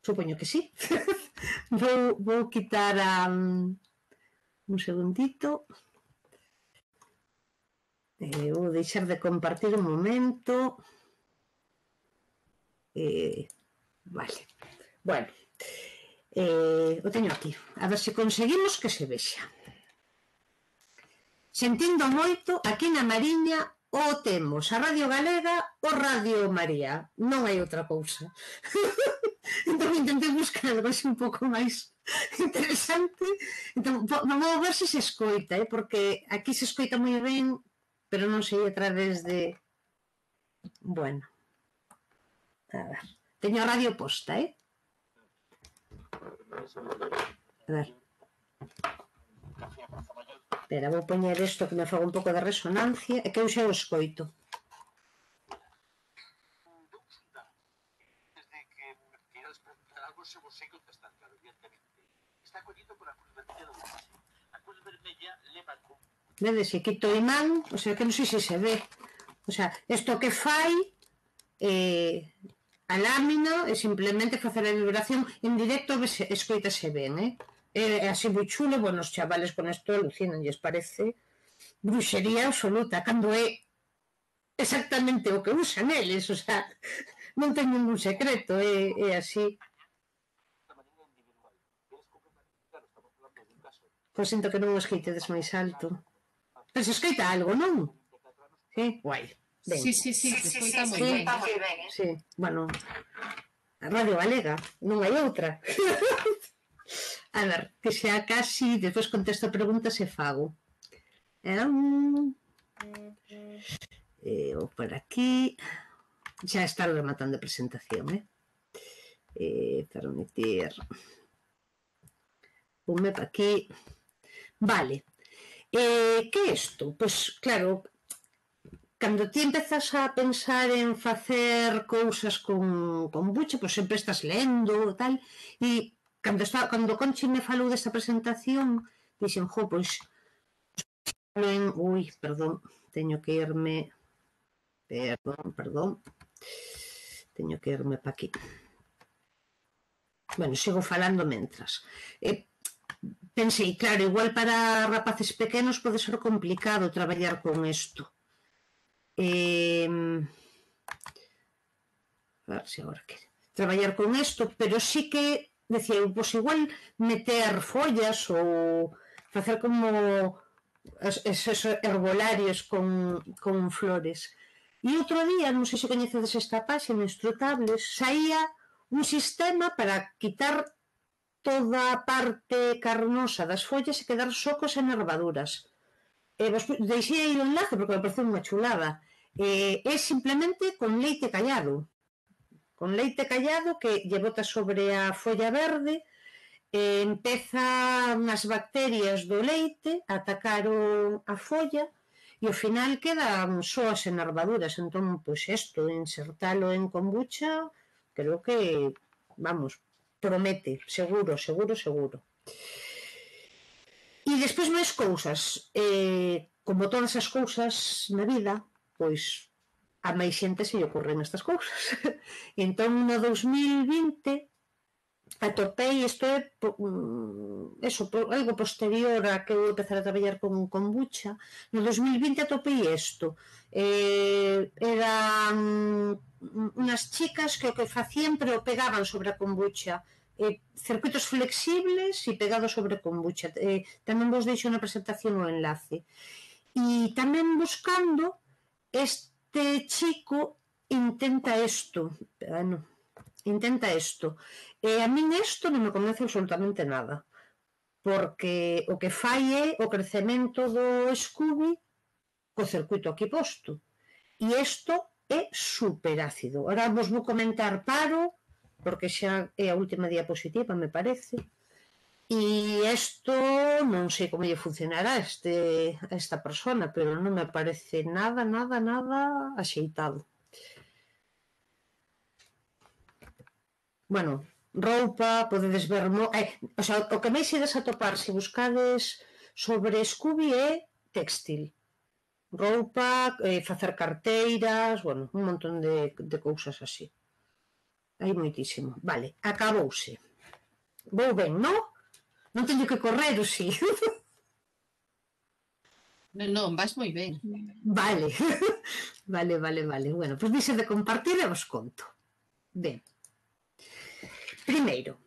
Supoño que sí. Vou quitar un segundito. Vou deixar de compartir un momento. Vale. Bueno, o teño aquí. A ver se conseguimos que se vexa. Sentindo moito, aquí na Mariña o temos a Radio Galega ou Radio María. Non hai outra cousa. Entón intentei buscar algo así un pouco máis interesante. Entón, vamos ver se escoita, porque aquí se escoita moi ben, pero non sei a través de... Bueno. A ver. Teño a radio posta, A ver. Espera, vou poñer isto que me faga un pouco de resonancia, e que eu xa o escoito. Desde que me queiras preguntar algo, se vos sei contestar, claro, evidentemente. Está collido por a cruz vermella do Uxe. A cruz vermella leva con... Vedes, se quito o imán, o sea, que non sei se se ve. O sea, isto que fai... a lámina é simplemente facer a vibración en directo, escoitase ben, é así moi chulo. Bueno, os chavales con isto alucinan, lles parece bruxería absoluta, cando é exactamente o que usan eles, o sea, non ten ningún secreto, é así. Pois sinto que non o escoitedes máis alto, pero se escoita algo, non? Sí, guai. Sí, se escoita moi ben. Sí, bueno, a Radio Galega, non hai outra. A ver, que sea casi, despois contesto preguntas e fago. Ou por aquí. Xa está rematando a presentación, para meter un mapa aquí. Vale. Que é isto? Pois, claro, cando ti empezas a pensar en facer cousas con kombucha, pois sempre estás lendo e tal, e cando Conchi me falou desta presentación, dixen, pois ui, perdón, teño que irme perdón, teño que irme pa aquí. Bueno, sigo falando mentras. Pensei, claro, igual para rapaces pequenos pode ser complicado traballar con isto. A ver se agora quere traballar con isto, pero sí que decía, pois igual meter follas ou facer como esos herbolarios con flores. E outro día, non sei se coñecedes esta páxina, Instrutables, saía un sistema para quitar toda a parte carnosa das follas e quedar só cos enervaduras. Deixei aí o enlace porque me pareceu unha chulada. É simplemente con leite callado. Con leite callado que lle bota sobre a folla verde, empezan as bacterias do leite a atacar a folla e ao final quedan só as enervaduras. Entón, pois isto, insertalo en kombucha, creo que, vamos, promete, seguro. E despois máis cousas. Como todas as cousas na vida, pois a máis xente se lle ocorren estas cousas. Entón, no 2020, atopei, isto é algo posterior a que eu empezar a traballar con kombucha, no 2020 atopei isto. Eran unhas chicas que o que facían, pero o pegaban sobre a kombucha, circuitos flexibles e pegados sobre kombucha. Tamén vos deixo na presentación o enlace. E tamén buscando, este chico intenta isto. A min isto non me convence absolutamente nada, porque o que fai é o crecemento do Scooby co circuito aquí posto. E isto é superácido. Ahora vos vou comentar, porque xa é a última diapositiva, me parece. E isto non sei como lle funcionará a esta persona, pero non me parece nada axeitado. Bueno, roupa, podedes ver... O sea, o que máis ides atopar se buscades sobre Scooby é textil. Roupa, facer carteiras, bueno, un montón de cousas así. Hai moitísimo. Vale, acabouse. Vou ben, non? Non teño que correr, ou si? Non, vas moi ben. Vale. Vale. Bueno, pois dixe de compartir e vos conto. Ben. Primeiro,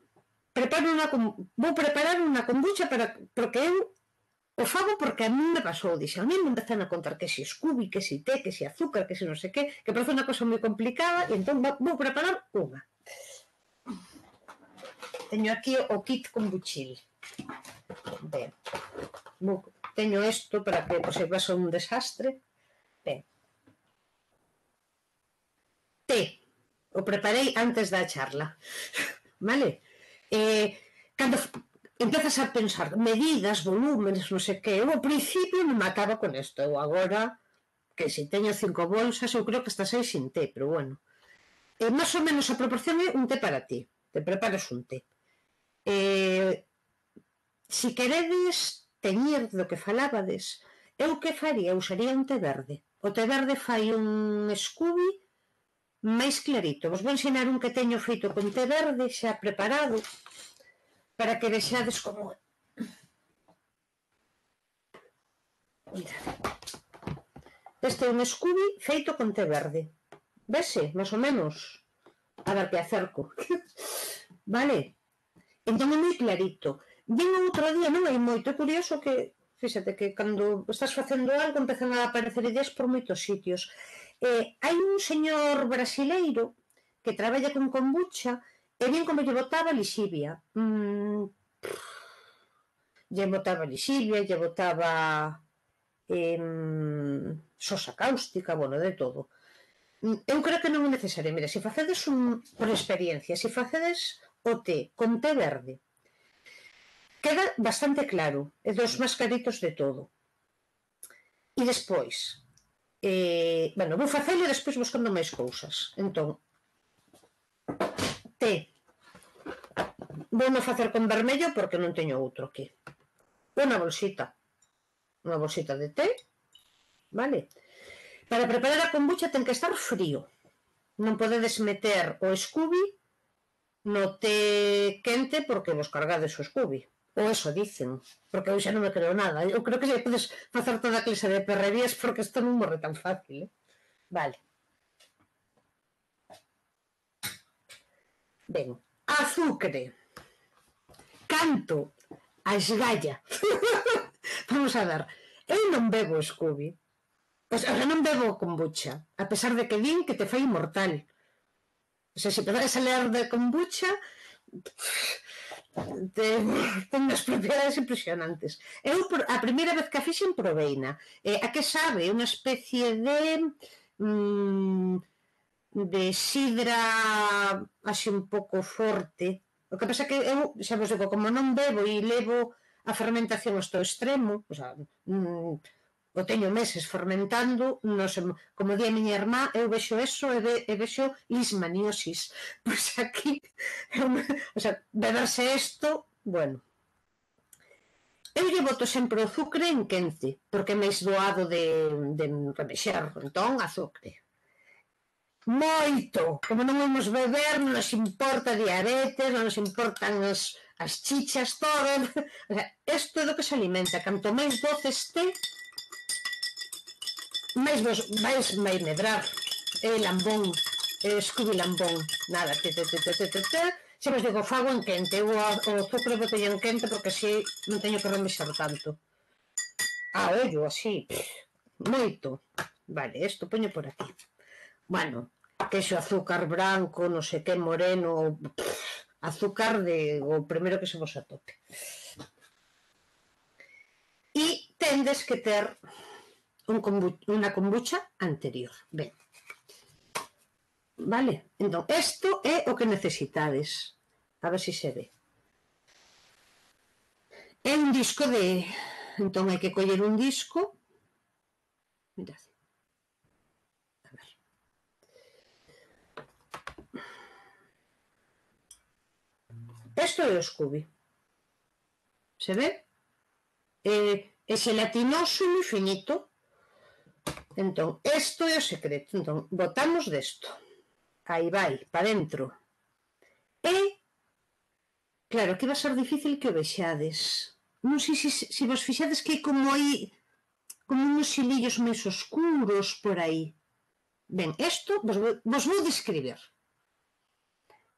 vou preparar unha kombucha porque eu o fago porque a mí me pasou, dixo, a mí me empezan a contar que si Scooby, que si té, que si azúcar, que si non sei que parece unha cosa moi complicada, e entón vou preparar unha. Teño aquí o kit kombuchil. Ben, teño isto para que se pase un desastre. Ben. Té, o preparei antes da charla. Vale? Cando empezas a pensar medidas, volúmenes, non sei que, eu ao principio me mataba con isto, eu agora que se teño 5 bolsas, eu creo que hasta 6 sin té, pero bueno, máis ou menos a proporción é un té para ti, te preparas un té. Se queredes teñir do que falábades, eu que faría? Usaría un té verde. O té verde fai un Scooby máis clarito. Vos vou ensinar un que teño feito con té verde xa preparado para que vexades como é. Este é un Scooby feito con té verde. Vese, máis ou menos? A ver que acerco. Vale? Entón é moi clarito. Vin outro día, non hai moito, é curioso que, fíxate que cando estás facendo algo empezan a aparecer ideas por moitos sitios. Hai un señor brasileiro que traballa con kombucha e vin como lle botaba lixivia. Lle botaba sosa cáustica, bueno, de todo. Eu creo que non é necesario. Mira, se facedes por experiencia, se facedes o té con té verde, queda bastante claro, é dos máis claritos de todo. E despois, bueno, vou facelo e despois buscando máis cousas. Entón, té. Vou non facer con vermello porque non teño outro aquí. Unha bolsita de té, vale? Para preparar a kombucha ten que estar frío. Non podedes meter o Scooby no té quente porque vos cargades o Scooby. Ou eso dicen, porque eu xa non me creo nada. Eu creo que xa podes facer toda a clase de perrerías porque isto non morre tan fácil. Vale. Ben, azucre. Canto a esgalla. Vamos a ver, eu non bebo Scooby. Pois ahora non bebo kombucha, a pesar de que din que te fai inmortal. O sea, se empezares a ler de kombucha, ten unhas propiedades impresionantes. Eu, a primeira vez que a fixen, proveina. A que sabe? Unha especie de sidra así un pouco forte. O que pasa que eu, xa vos digo, como non bebo e levo a fermentación hasta o extremo, o sea, o teño meses fermentando, non sei, como di a miña irmá, eu vexo eso e vexo lismaniosis. Pois aquí, o sea, beberse isto, bueno. Eu lle boto sempre o azucre en quente, porque é máis doado de remexer, entón azucre. Moito, como non vamos beber, non nos importa diabetes, non nos importan as chichas, todo. O sea, isto é do que se alimenta. Canto máis doce este, máis vai medrar. É lambón, é Scooby lambón. Nada, se vos digo, fago en quente. Eu o azúcar botei en quente porque así non teño que remexer tanto. Ollo, así, moito. Vale, isto poño por aquí. Bueno, queixo azúcar branco, non sei que, moreno, azúcar o primeiro que se vos atope. E tendes que ter unha kombucha anterior. Ben. Vale? Entón, isto é o que necesitades. A ver se se ve. É un disco de... Entón, hai que coller un disco. Mirad. A ver. Isto é o Scooby. Se ve? É xelatinoso e moi finito. Entón, isto é o secreto. Entón, botamos desto. Aí vai, para dentro. E, claro, aquí vai ser difícil que o vexades. Non sei se vos fixades que hai como aí, como uns xilillos máis oscuros por aí. Ben, isto vos vou describir.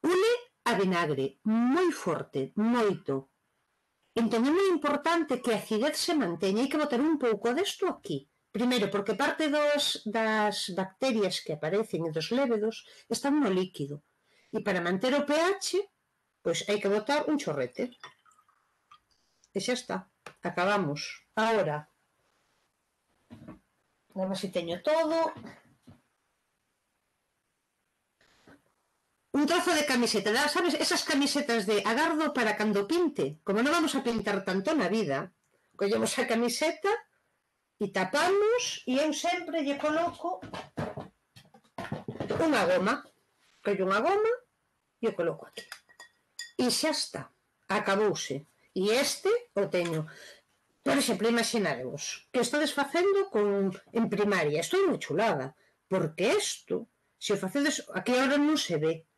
Une a vinagre moi forte, moito. Entón é moi importante que a acidez se manteña. Hai que botar un pouco desto aquí. Primeiro, porque parte das bacterias que aparecen e dos lévedos están no líquido. E para manter o pH, pois hai que botar un chorrete. E xa está. Acabamos. Ahora, a ver se teño todo. Un trozo de camiseta, sabes, esas camisetas de agardo para cando pinte, como non vamos a pintar tanto na vida, collemos a camiseta e tapamos e eu sempre lle coloco unha goma, collo unha goma e o coloco aquí. E xa está, acabouse. E este o teño. Por exemplo, imaginarevos que estades facendo en primaria, isto é moi chulada, porque isto, se o facedes, aquí agora non se ve,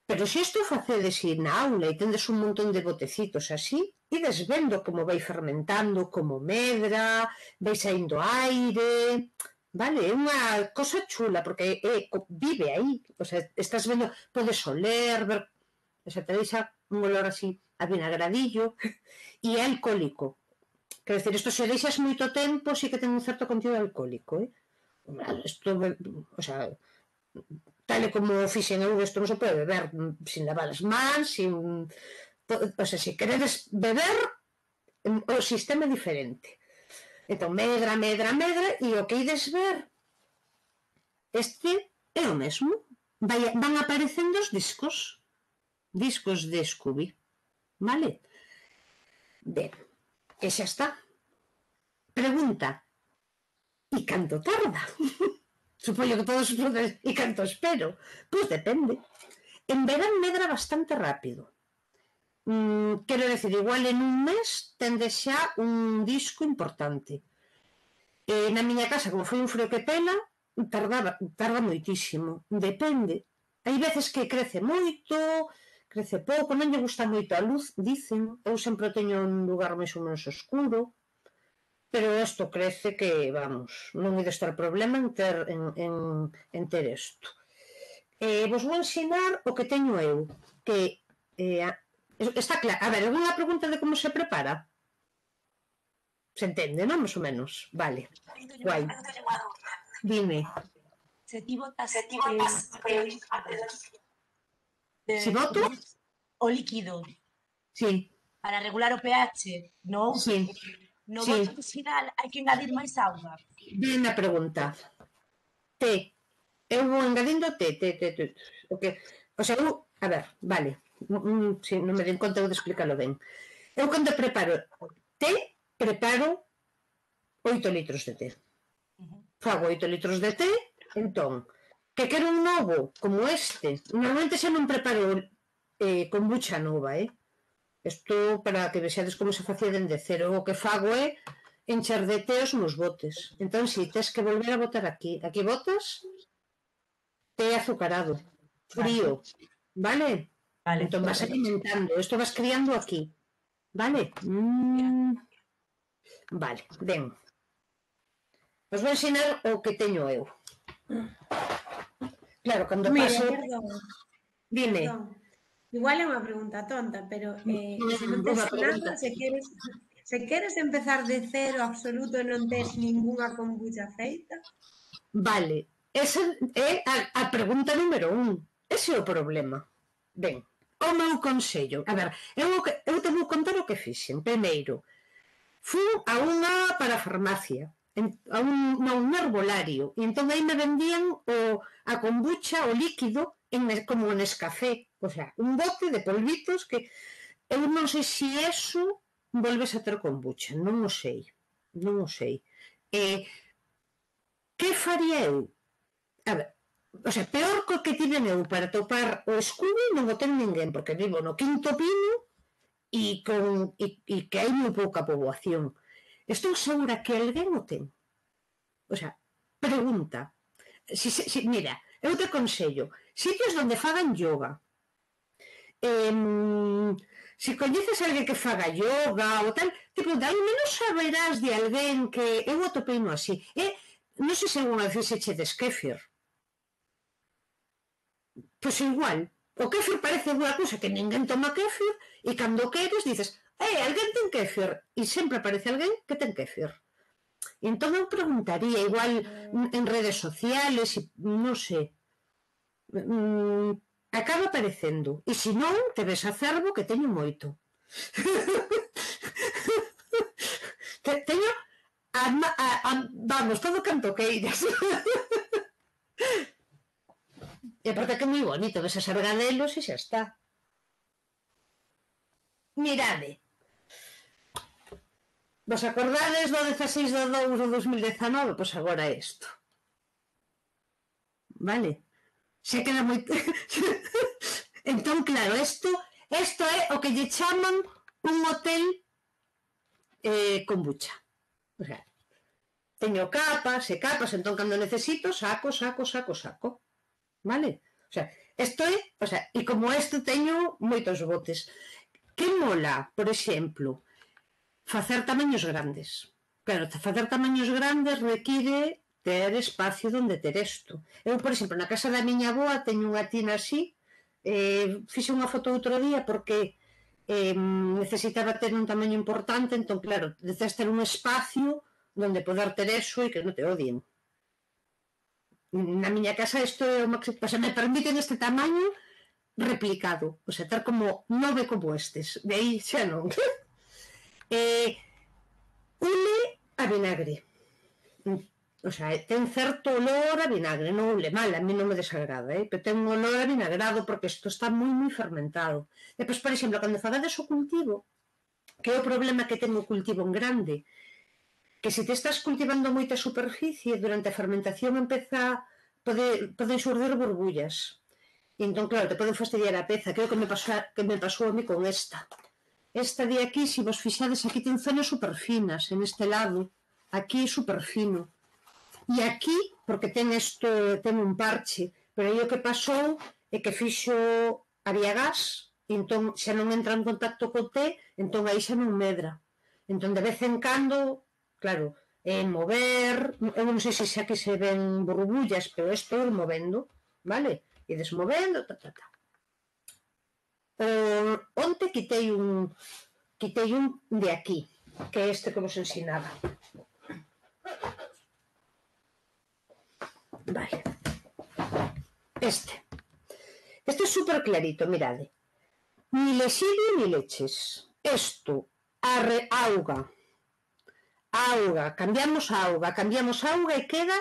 pero se isto facedes na aula e tendes un montón de botecitos así, ides vendo como vai fermentando, como medra, vai saindo aire, vale, é unha cosa chula, porque vive aí, o sea, estás vendo, podes oler, ver, o sea, te deixa un olor así a vinagradillo, e é alcohólico. Quer dizer, isto se deixas moito tempo, sí que ten un certo contido alcohólico, isto, o sea, tal e como fixen eu, isto non se pode beber sin lavar as mans, sin... O sea, se queredes beber, o sistema é diferente. Entón, medra, e o que ides ver, este é o mesmo. Van aparecendo os discos de Scooby, vale? Ben, e xa está. Pregunta, e canto tarda? Supoño que todos os preguntas, e canto espero? Pois depende. En verán medra bastante rápido. Quero decir, igual en un mes tende xa un disco importante. Na miña casa, como foi un frío que pela, tarda moitísimo. Depende. Hai veces que crece moito, crece pouco, non lle gusta moito a luz, dicen. Eu sempre teño un lugar máis ou menos oscuro, pero isto crece que, vamos, non hai de estar problema en ter isto. Vos vou ensinar o que teño eu, que está claro. A ver, alguna pregunta de como se prepara? Se entende, non? Más ou menos. Vale. Guai. Dime. Se ti botas Se boto? O líquido. Sí. Para regular o pH, non? Sí. No bote final hai que engadir máis auga. Ben a pregunta. Té. Eu vou engadindo té. O sea, eu... A ver, vale. Se non me den conta, eu de explicarlo ben. Eu cando preparo té, preparo 8 litros de té. Fago 8 litros de té, entón, que quero un novo, como este. Normalmente xa non preparo kombucha nova, Isto para que vexades como se facía dende cero. O que fago é encher de teos nos botes. Entón, si, tes que volver a botar aquí. Aquí botas té azucarado, frío, vale? Vale, Entón vas alimentando. Isto vas criando aquí, vale? Vale, ben. Os vou ensinar o que teño eu. Claro, cando Mira, paso... perdón, Dime. perdón. Igual é unha pregunta tonta, pero se non Boa tes pregunta. nada, se queres empezar de cero absoluto e non tes ningunha kombucha feita, Vale, esa é a pregunta número 1. Ese é o problema. Ben, o meu consello. A ver, eu te vou contar o que fixen. Primeiro, fui a unha parafarmacia, a un herbolario, e entón aí me vendían a kombucha, o líquido, como en Nescafé, o sea, un bote de polvitos que eu non sei se eso volves a ter kombucha, non o sei, non o sei. Que faría eu? A ver, o sea, peor co que tiven eu para topar o Scooby non o ten ninguén, porque vivo no Quinto Pino e que hai moi pouca poboación. Estou segura que alguén o ten. O sea, pregunta. Mira, eu te aconsello sitios onde fagan yoga. Se coñeces alguén que faga yoga ou tal, tipo, de ao menos saberás de alguén que eu atopei no así. Non sei se alguna vez fixeches kéfir. Pois igual, o kéfir parece unha cousa que ninguén toma kéfir e cando queres dices, alguén ten kéfir, e sempre aparece alguén que ten kéfir. Entón eu preguntaría, igual en redes sociales, non sei, acaba aparecendo, e se non, te ves a Cervo que teño moito. Teño, vamos, todo canto queiras. E aparte que é moi bonito, ves as argadelos e xa está. Mirade. Vos acordades do 16 de 2 de 2019? Pois agora é isto. Vale? Se queda moito... Entón, claro, isto é o que lle chaman un hotel kombucha. O sea, teño capas e capas, entón cando necesito, saco. Vale? O sea, isto é... O sea, e como isto teño moitos botes. Que mola, por exemplo, facer tamaños grandes. Claro, facer tamaños grandes require ter espacio onde ter isto. Eu, por exemplo, na casa da miña avoa teño unha tina así, fixe unha foto outro día porque necesitaba ter un tamaño importante, entón, claro, deces ter un espacio onde poder ter eso e que non te odien. Na miña casa isto é o máximo, o sea, me permiten este tamaño replicado, o sea, ter como 9 como estes, de aí xa non. Ule a vinagre. O sea, ten certo olor a vinagre, non ule mal, a mí non me desagrada, pero ten un olor a vinagrado porque isto está moi fermentado. Depois, por exemplo, cando fagades o cultivo, que é o problema que ten o cultivo en grande, que se te estás cultivando moita superficie, durante a fermentación poden xurdir burbullas. E entón, claro, te poden fastidiar a peza, que é o que me pasou a mí con esta. Esta de aquí, se vos fixades, aquí ten zonas superfinas, en este lado, aquí superfino. E aquí, porque ten un parche, pero aí o que pasou é que fixo había gas, e entón xa non entra en contacto co té, entón aí xa non medra. Entón de vez en cando, claro, mover, eu non sei se xa que se ven burbullas, pero estou movendo, vale? E desmovendo, Onte quitei un de aquí, que é este que vos ensinaba. Vale. Este é super clarito, mirade. Ni lexilio ni leches. Isto, auga, cambiamos auga e queda,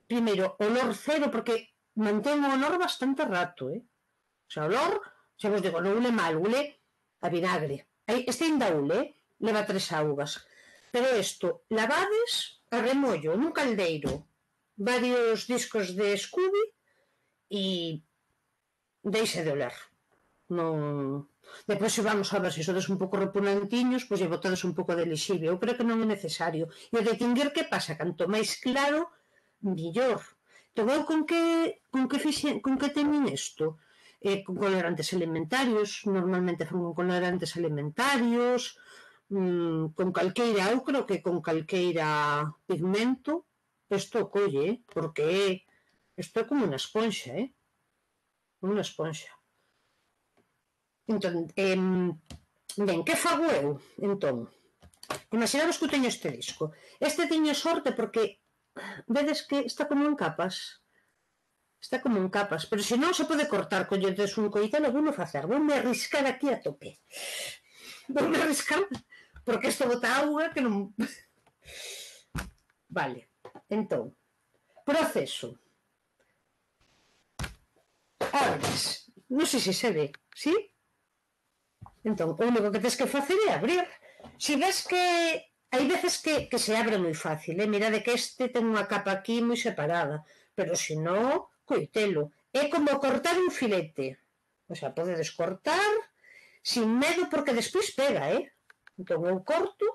primeiro, olor cero, porque mantén o olor bastante rato, O sea, olor, xa vos digo, non ule mal, ule a vinagre. Este ainda ule, leva 3 augas. Pero isto, lavades a remollo nun caldeiro, varios discos de Scooby e deixe de oler. Non... Depois, se vamos a ver se sodes un pouco repugnantiños, pois lle botades un pouco de lixive. Eu creo que non é necesario. E o distinguir que pasa, canto máis claro, millor. Entón, eu con que temin isto? Con colorantes alimentarios, normalmente fan con colorantes alimentarios, con calqueira, eu creo que con calqueira pigmento, isto colle, porque isto é como unha esponxa, como unha esponxa. Entón, ben, que fago eu, entón? Imaginamos que eu teño este disco. Este teño sorte porque vedes que está como en capas. Está como en capas, pero se non se pode cortar, colledes un coitelo, vou facer, voume arriscar aquí a tope. Voume arriscar, porque isto bota auga que non... Vale, entón, proceso. Abres, non sei se se ve, sí? Entón, o único que tens que facer é abrir. Se ves que hai veces que se abre moi fácil, mirade que este ten unha capa aquí moi separada, pero se non, coitelo. É como cortar un filete. O sea, podedes cortar sin medo porque despois pega, Entón eu corto,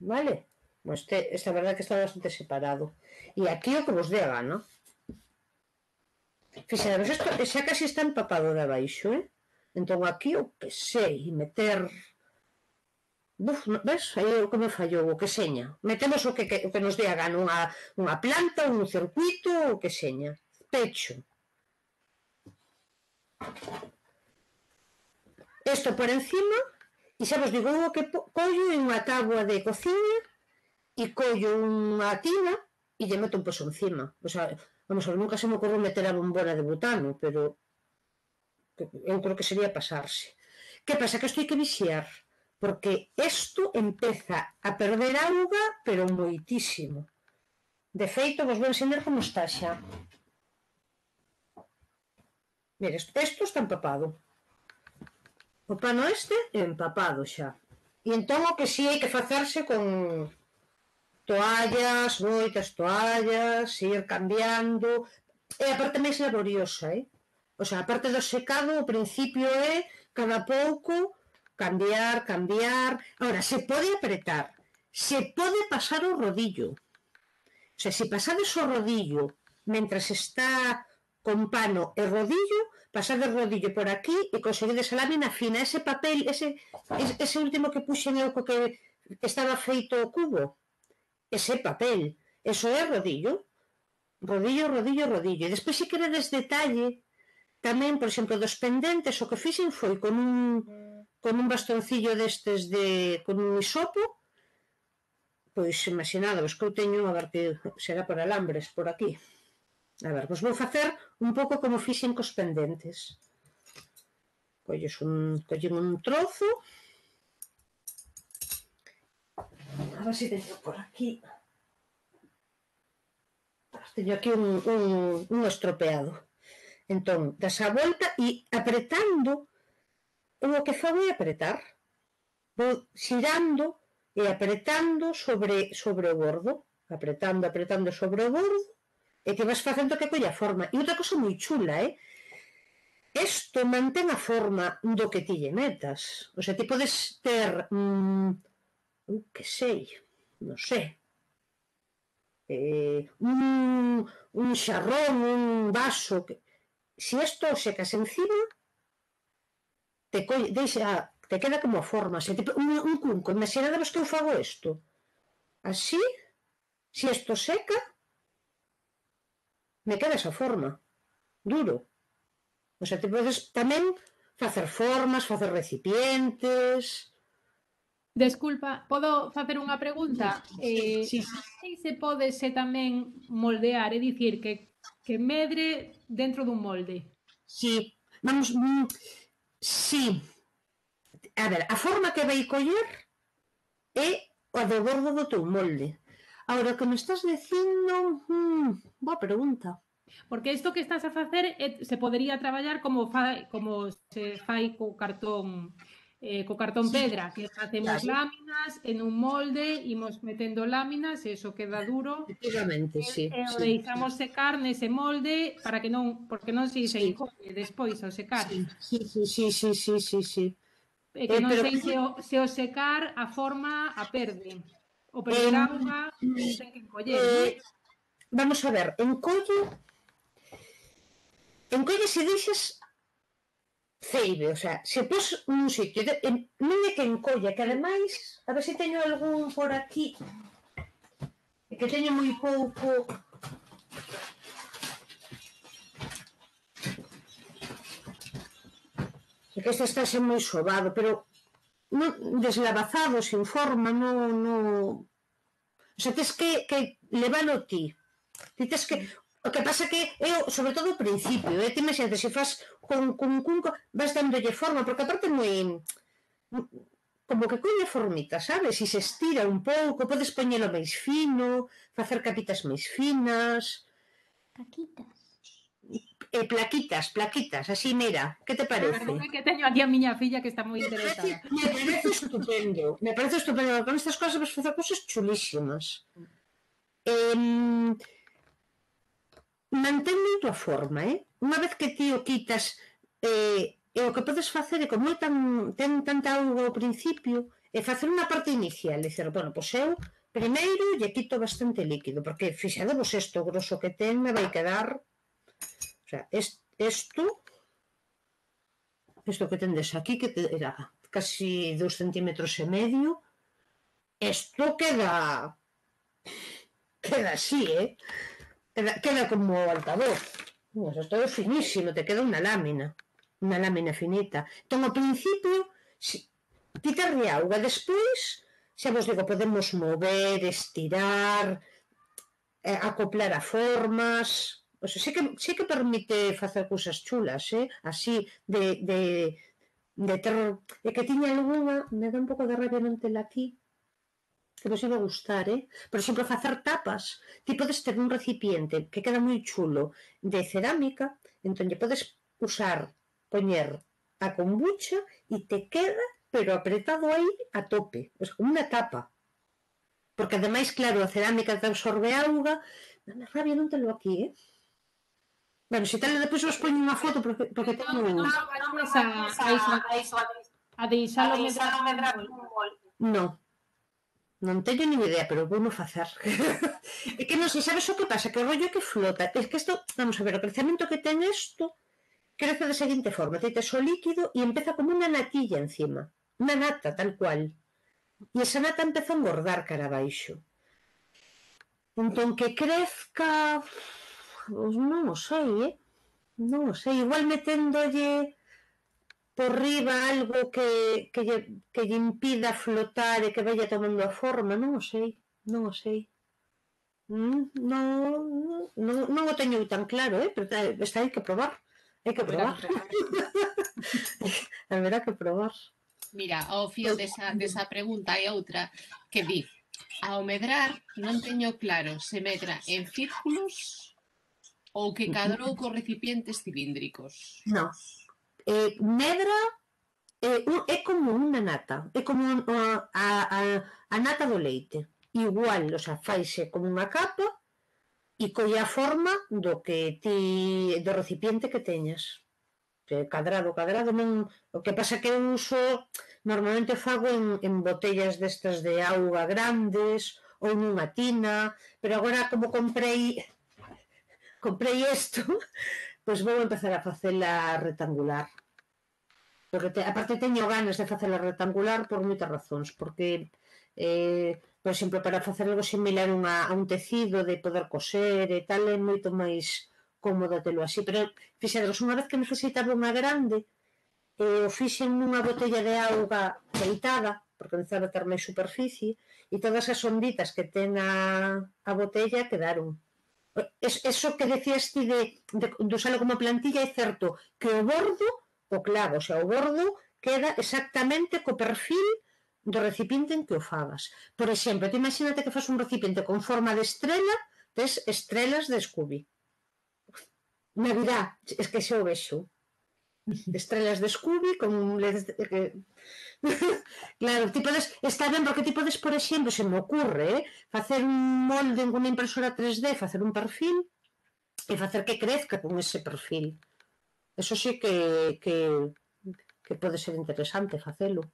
vale? Esta verdade que está bastante separado. E aquí o que vos dé a gana. Fixaros, isto xa casi está empapado de abaixo, Entón aquí o que sei, meter... ves? Aí o que me fallou, o que seña. Metemos o que nos dé a gana, unha planta, un circuito, o que seña. Pecho. Isto por encima, e xa vos digo, o que collo en unha táboa de cociña e collo unha tina e lle meto un poso encima. O sea, vamos a ver, nunca se me ocorreu meter a bombona de butano, pero eu creo que sería pasarse. Que pasa? Que isto hai que vixiar, porque isto empeza a perder auga, pero moitísimo. De feito, vos vou enseñar como está xa. Mira, isto está empapado. O pano este é empapado xa. E entón o que si hai que facerse con toallas, moitas toallas, ir cambiando. É a parte máis laboriosa, O sea, a parte do secado, o principio é cada pouco cambiar. Ahora, se pode apretar, se pode pasar o rodillo. O sea, se pasades o rodillo mentras está con pano e rodillo, pasades o rodillo por aquí e conseguides a lámina fina. Ese papel, ese último que puxen eu que estaba feito o cubo, ese papel, eso é rodillo. Rodillo. E despois, se queredes detalle, tamén, por exemplo, dos pendentes, o que fixen foi con un bastoncillo destes con un hisopo, pois imaginadvos que eu teño, a ver que será por alambres por aquí. A ver, vos vou facer un pouco como fixen cos pendentes. Collen un trozo, a ver se teño por aquí. Teño aquí un estropeado. Entón, das a volta e apretando, o que fago é apretar. Vou xirando e apretando sobre o bordo. Apretando sobre o bordo, e que vas facendo que colla forma. E outra cosa moi chula, isto mantén a forma do que ti lle metas. O sea, ti podes ter, que sei, non sei, un xarrón, un vaso, se isto o secas encima, te queda como a forma, un cunco. Imaginadevos que eu fago isto así, se isto seca, me queda esa forma, duro. O sea, te podes tamén facer formas, facer recipientes. Desculpa, podo facer unha pregunta? Sí. Se podese tamén moldear, é dicir, que medre dentro dun molde. Sí, vamos, sí. A ver, a forma que vai coller é a do bordo do teu molde. Agora, o que me estás dicindo, boa pregunta. Porque isto que estás a facer se podería traballar como se fai co cartón co cartón pedra, que facemos Claro. láminas en un molde, imos metendo láminas e iso queda duro Efectivamente, sí, e o sí, deixamos secar nese molde para que non, porque non se sí, encolle despois ao secar. sí, sí, sí, sí, sí, sí, sí, sí. E que non Pero sei se o secar a forma a perde. O perder em, auga ten que encoller, non? vamos a ver, encolle se deixas ceibe, o sea, se pos nun sitio, non é que encolla, que ademais, a ver se teño algún por aquí, que teño moi pouco. É que este está moi sobado, pero non, deslavazado, sin forma, non... O sea, tens que levalo ti. Ti tes que... O que pasa que eu, sobre todo ao principio, ti imagínate, se faz con cunco, vas dándolle forma, porque aparte moi... como que colle formita, sabes? E se estira un pouco, podes poñelo máis fino, facer capitas máis finas... Caquitas. Plaquitas, así, mira, que te parece? Perdón, que teño aquí a miña filla que está moi interesada. Me parece estupendo, con estas cosas vas facer cosas chulísimas. Mantén moito a forma, Unha vez que ti o quitas, o que podes facer é, como ten tanta auga ao principio, é facer unha parte inicial, e dizer, bueno, pois eu primeiro lle quito bastante líquido, porque fixadevos isto grosso que ten me vai quedar, o sea, isto que tendes aquí, que era casi 2,5 centímetros, isto queda así, queda como altavoz. Isto é finísimo, te queda unha lámina finita. Entón, ao principio, quitarlle auga, despois, xa vos digo, podemos mover, estirar, acoplar a formas, o sea, sí que permite facer cousas chulas, así, de ter... É que tiña algunha, me dá un pouco de rabia non tela aquí, que vos iba a gustar, por exemplo, facer tapas. Ti podes ter un recipiente que queda moi chulo de cerámica, entón lle podes poñer a kombucha e te queda, pero apretado aí a tope, o sea, como unha tapa. Porque ademais, claro, a cerámica te absorbe auga, dame rabia non telo aquí, Bueno, se tal, depois vos poño unha foto, porque teño... A deixalo medrar un mol. Non teño ni idea, pero vou non facer. É que non sei, sabes o que pasa? Que o rollo que flota. É que isto, vamos a ver, o crecemento que ten isto crece da seguinte forma. Teites o líquido e empeza como unha natilla encima. Unha nata, tal cual. E esa nata empeza a engordar cara abaixo. Entón, que crezca... Pois non o sei, Non o sei. Igual meténdolle por riba algo que lle impida flotar e que vaya tomando a forma, non o sei. Non o teño tan claro, pero hai que probar. Haberá que probar. Mira, ao fío desa pregunta hai outra que di: ao medrar non teño claro se medra en círculos ou que cadrou cos recipientes cilíndricos. Non. Medra é como unha nata, é como a nata do leite. Igual, o sea, faise como unha capa e colle a forma do recipiente que teñas. Cadrado, non... O que pasa que eu uso, normalmente fago en botellas destas de auga grandes ou nunha tina, pero agora como comprei isto, pois vou empezar a facela rectangular. Porque aparte teño ganas de facela rectangular por moitas razóns, porque por exemplo, para facer algo similar a un tecido, de poder coser e tal, é moito máis cómodo telo así, pero fixaderos, unha vez que necesitaba unha grande, o fixen nunha botella de auga peitada, porque necesitaba ter máis superficie, e todas as onditas que ten a botella quedaron. Eso que decías ti de usalo como plantilla, é certo que o bordo, o clavo, o sea, o bordo queda exactamente co perfil do recipiente en que o fagas. Por exemplo, te imagínate que fas un recipiente con forma de estrela, tes estrelas de Scooby. Navidad, es que xa o vexo. Estrellas de Scooby con claro, ti podes, está ben porque ti podes, por exemplo, se me ocurre, facer un molde en unha impresora 3D, facer un perfil e facer que crezca con ese perfil. Eso sí que pode ser interesante facelo.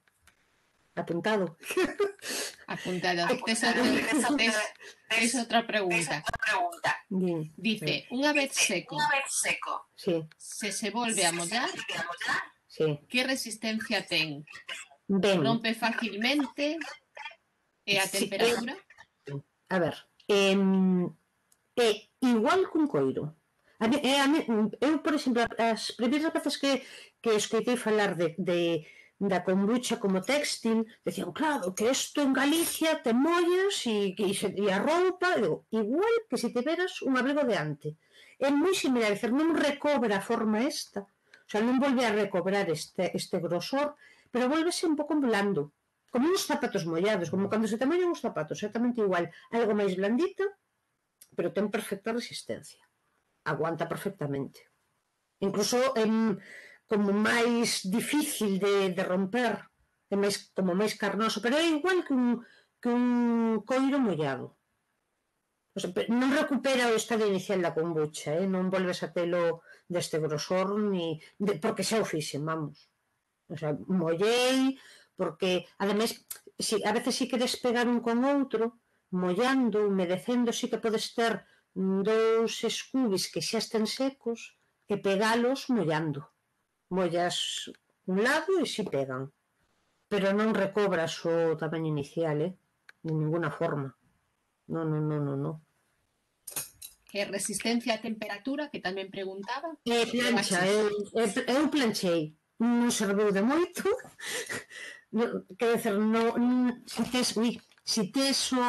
Apuntado. Apuntado. Tes outra pregunta. Bien. Dice, unha vez seco, Sí, se volve a mollar, sí. que resistencia ten? Ben, Rompe facilmente? E a Sí, temperatura? a ver, é igual cun coiro. Eu, por exemplo, as primeiras veces que escoitei falar da kombucha como téxtil, decían, claro, que isto en Galicia te mollas e a roupa, digo, igual que se tiveras un abrigo de ante. É moi similar, é dicir, non recobra a forma esta, o sea, non volve a recobrar este grosor, pero volvese un pouco blando, como uns zapatos mollados, como cando se te mollan os zapatos, exactamente igual, algo máis blandita, pero ten perfecta resistencia. Aguanta perfectamente. Incluso é como máis difícil de romper, é máis, como máis carnoso, pero é igual que un coiro mollado. O sea, non recupera o estado inicial da kombucha, non volves a telo deste grosor, porque xa o fixen, vamos. O sea, mollei, porque, ademais, a veces si queres pegar un con outro, mollando, humedecendo, si que podes ter 2 scoobies que xa estén secos e pegalos mollando. Mollas un lado e si pegan. Pero non recobras o tamaño inicial, de ninguna forma. Non. Que resistencia a temperatura, que tamén preguntaba. Plancha, eu planchei. Non serviu de moito. Quero dizer, se tes o...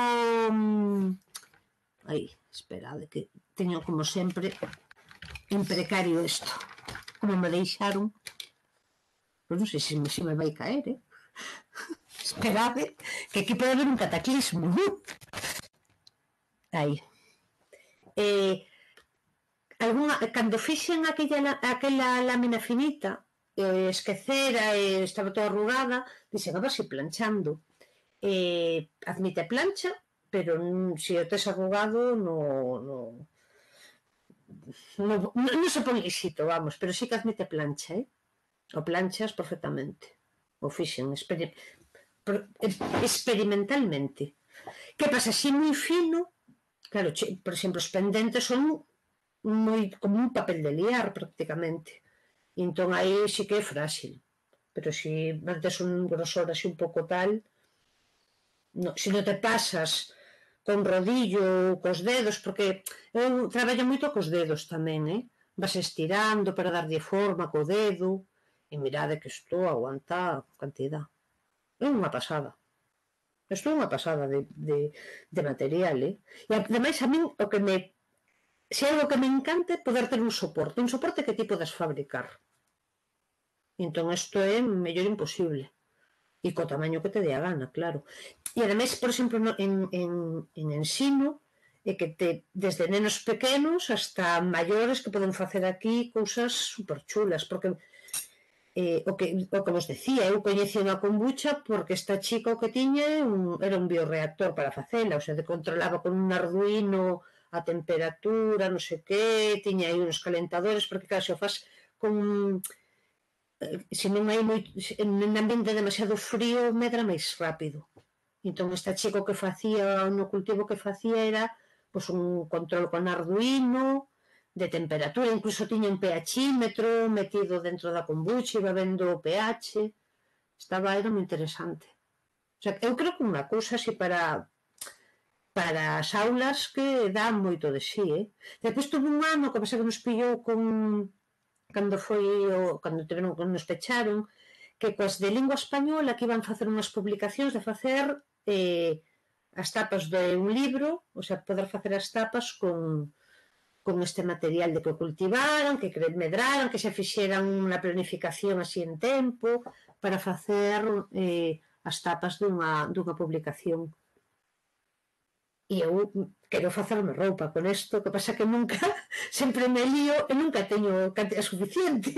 Ai, esperade, que teño como sempre en precario isto. Como me deixaron. Pois non sei se me vai caer, Esperade, que aquí pode haber un cataclismo. Aí. Cando fixen aquela lámina finita, esquecera e estaba toda arrugada, dixen, a ver se planchando. Admite plancha, pero se o tes arrugado non se pon lisito, vamos, pero sí que admite plancha, o planchas perfectamente. O fixen experimentalmente. Que pasa, así moi fino, claro, por exemplo, os pendentes son como un papel de liar prácticamente. Entón aí sí que é frágil, pero se mantes un grosor así un pouco tal, se non te pasas con rodillo ou cos dedos, porque eu traballo moito cos dedos tamén, vas estirando para darlle forma co dedo, e mirade que isto aguanta cantidad. É unha pasada. Isto é unha pasada de material, E ademais a min o que me... Se algo que me encanta é poder ter un soporte que ti podes fabricar. Entón isto é mellor imposible. E co tamaño que te dé a gana, claro. E ademais, por exemplo, en ensino, é que desde nenos pequenos hasta maiores que poden facer aquí cousas superchulas, porque o que vos decía, eu coñeci unha kombucha porque esta chica o que tiña era un bioreactor para facela, o sea, controlaba con un Arduino a temperatura, non sei que, tiña aí uns calentadores, porque claro, se o faz con... se non hai moito, en ambiente demasiado frío, medra máis rápido. Entón, esta chica o que facía, no cultivo que facía era pois un control con Arduino, de temperatura, incluso tiña un pHímetro metido dentro da kombucha, iba vendo o pH, era moi interesante. O sea, eu creo que unha cousa así para as aulas que dá moito de sí, Depois tuve un ano que pasa que nos pillou cando nos pecharon, que coas de lingua española que iban facer unhas publicacións de facer as tapas de un libro, o sea, poder facer as tapas con este material de que cultivaran, que medraran, que se fixeran unha planificación así en tempo para facer as tapas dunha publicación. E eu quero facerme roupa con isto, que pasa que nunca, sempre me lío e nunca teño cantidad suficiente.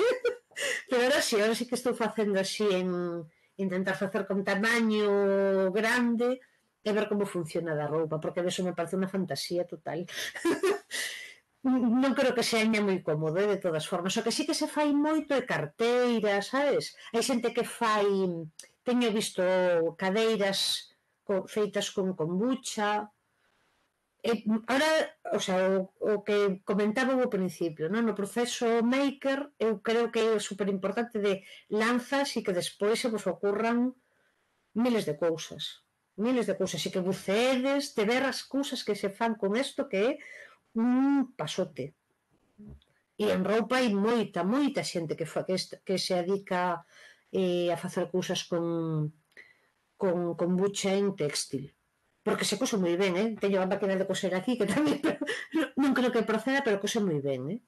Pero ahora sí que estou facendo así en intentar facer con tamaño grande e ver como funciona da roupa, porque eso me parece unha fantasía total. Non creo que seña moi cómodo, de todas formas. O que sí que se fai moito é carteira, sabes? Hai xente que fai, teño visto cadeiras feitas con kombucha. Ahora, o sea, o que comentaba ao principio, non? No proceso maker, eu creo que é super importante de lanzas e que despois se vos ocurran miles de cousas. Miles de cousas. E que bucedes de ver as cousas que se fan con isto, que é un pasote. E en roupa hai moita xente que se dedica a facer cousas con kombucha en textil. Porque se cose moi ben, teño a máquina de coser aquí, que tamén non creo que proceda, pero cose moi ben,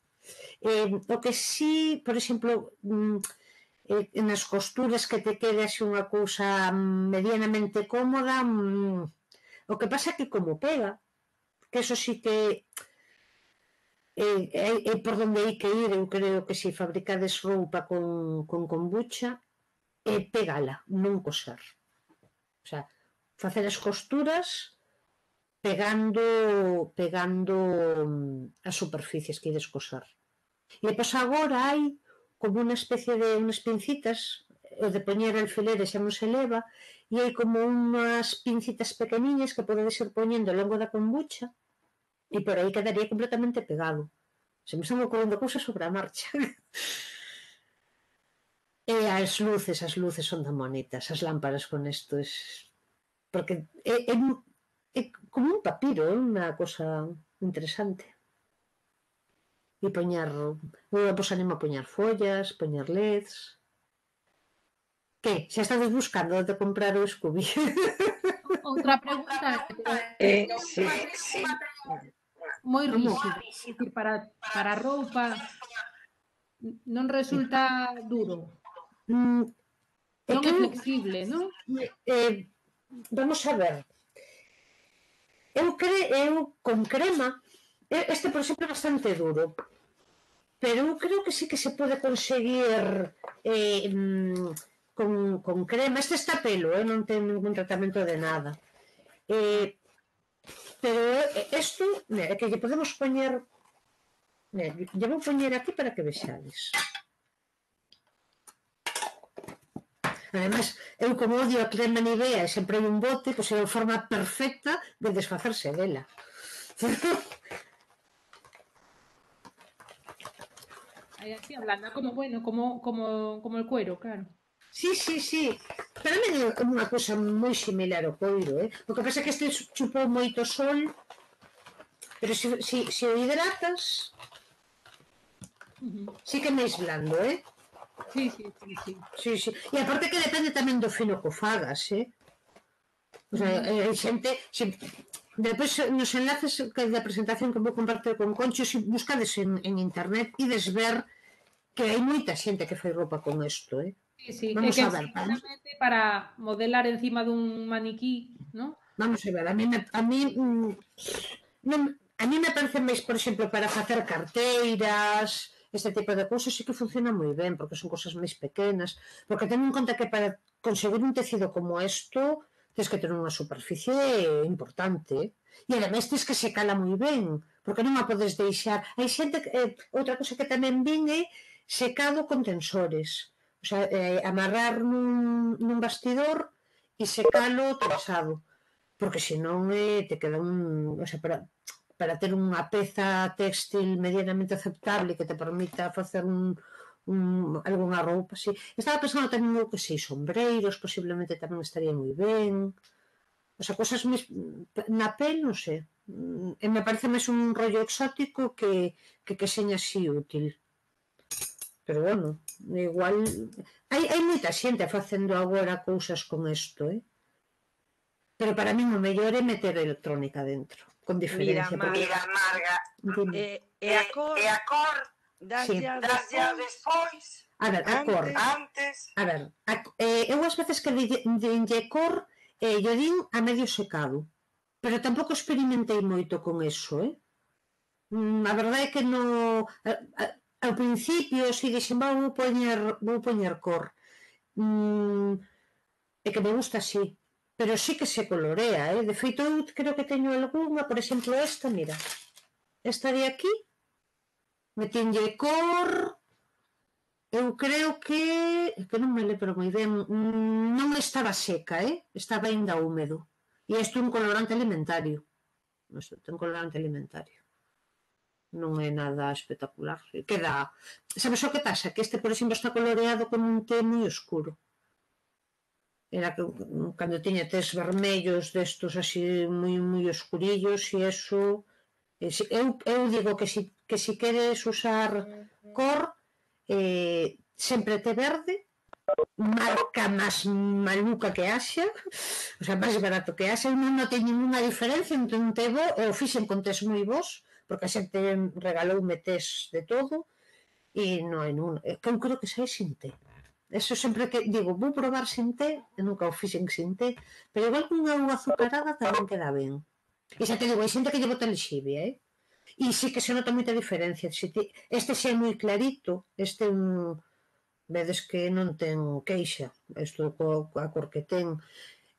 o que sí, por exemplo, nas costuras que te quede así unha cousa medianamente cómoda, o que pasa é que como pega, que eso sí que é por donde hai que ir, eu creo que se fabricades roupa con kombucha, pegala, non coser. O sea, facer as costuras pegando as superficies que ides coser. E pois agora hai como unha especie de unhas pincitas, o de poñer alfileres xa non se leva, e hai como unhas pincitas pequeniñas que podedes ir poñendo ao longo da kombucha e por aí quedaría completamente pegado. Se me están ocorrendo cousas sobre a marcha. E as luces son tan bonitas, as lámparas con isto, porque é como un papiro, é unha cosa interesante. E poñer, vos animo a poñer follas, poñer LEDs. Que? Xa estades buscando onde comprar o Scooby? Outra pregunta Sí. moi rígida, é dicir, para a roupa non resulta duro, non é flexible, non? Vamos a ver. Eu con crema, este por exemplo é bastante duro, pero eu creo que sí que se pode conseguir con crema. Este está pelo, non ten ningún tratamento de nada. Pero isto, é que lle podemos poñer, lle vou poñer aquí para que vexades. Ademais, eu como odio a crema Nivea e sempre hai un bote, pois é a forma perfecta de desfacerse dela. Aí así hablando, como el cuero, claro. Sí. Para mí é unha cousa moi similar ao coiro, O que pasa é que este chupou moito sol, pero se o hidratas, sí que é máis blando, Sí. Sí. E aparte que depende tamén do fino que o fagas, O sea, hai xente... Depois, nos enlaces da presentación que vou compartir con Concho, se buscades en internet, ides ver que hai moita xente que fai roupa con isto, Sí. Vamos a ver. Para modelar encima dun maniquí, non? Vamos a ver, a mí me parece máis, por exemplo, para facer carteiras, este tipo de cousas sí que funciona moi ben, porque son cousas máis pequenas, porque ten en conta que para conseguir un tecido como isto tens que ter unha superficie importante, e ademais tens que secala moi ben, porque non a podes deixar. Hai xente, outra cousa que tamén vin é secado con tensores, o sea, amarrar nun bastidor e secalo trasado, porque senón te queda o sea, para ter unha peza textil medianamente aceptable que te permita facer algunha roupa, sí. Estaba pensando tamén que sei, sombreiros, posiblemente tamén estaría moi ben. O sea, cosas na pel, non sei. E me parece máis un rollo exótico que seña así útil. Pero bueno, igual... Hai moita xente facendo agora cousas con isto, Pero para min o mellor é meter electrónica dentro, con diferencia. Mira, Marga, e a cor daslle despois? A ver, a cor. Antes? A ver, eu as veces que dinlle cor, yo din a medio secado, pero tampouco experimentei moito con eso, A verdade é que non... Ao principio, si dixen, vou poñer cor. É que me gusta así. Pero sí que se colorea, De feito, eu creo que teño algunha, por exemplo, esta, mira. Esta de aquí, metinlle cor. Eu creo que non me lembro moi ben, non estaba seca, Estaba ainda húmedo. E isto é un colorante alimentario. Isto é un colorante alimentario. Non é nada espectacular. Queda... Sabes o que pasa? Que este, por exemplo, está coloreado con un té moi oscuro. Era que cando tiña tés vermellos destos así moi oscurillos e eso... Eu digo que si queres usar cor, sempre té verde, marca máis maluca que haxa, o sea, máis barato que haxa, non ten ninguna diferencia entre un té bo, eu fixen con tés moi bons, porque a xente regaloume tés de todo, e non hai ninguna, que eu creo que sai sin té. Eso sempre que digo, vou probar sin té, e nunca o fixen sin té, pero igual que unha auga azucarada tamén queda ben. E xa te digo, hai xente que lle bota lexivia, E sí que se nota moita diferencia. Este xa é moi clarito, este vedes que non ten queixa, isto coa cor que ten,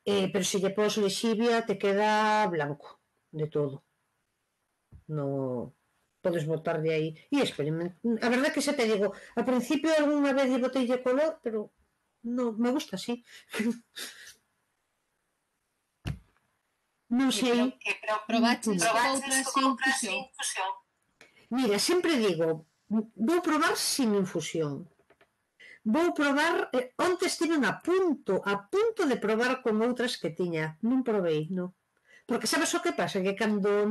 pero se lle pos lexivia te queda blanco de todo. No podes botar de aí e experimentar. A verdade que xa te digo, ao principio algunha vez lle botei de color, pero non me gusta así. Non sei. Probaches con outras sin infusión? Mira, sempre digo, vou probar sin infusión. Vou probar, onte estiven a punto de probar con outras que tiña. Non provei, non. Porque sabes o que pasa? Que cando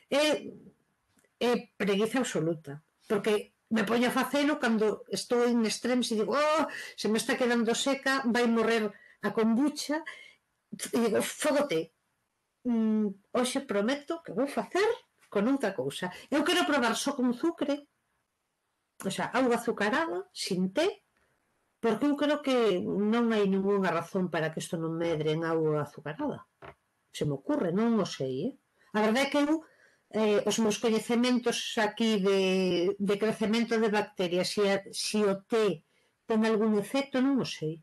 é preguiza absoluta. Porque me poño a facelo cando estou en extremes e digo, se me está quedando seca, vai morrer a kombucha, e digo, fogote. Hoxe prometo que vou facer con outra cousa. Eu quero probar só con azucre, o sea, auga azucarada, sin té, porque eu creo que non hai ninguna razón para que isto non medre en auga azucarada. Se me ocurre, non o sei, A verdade é que eu, os meus coñecementos aquí de crecemento de bacterias, se o té ten algún efecto, non o sei.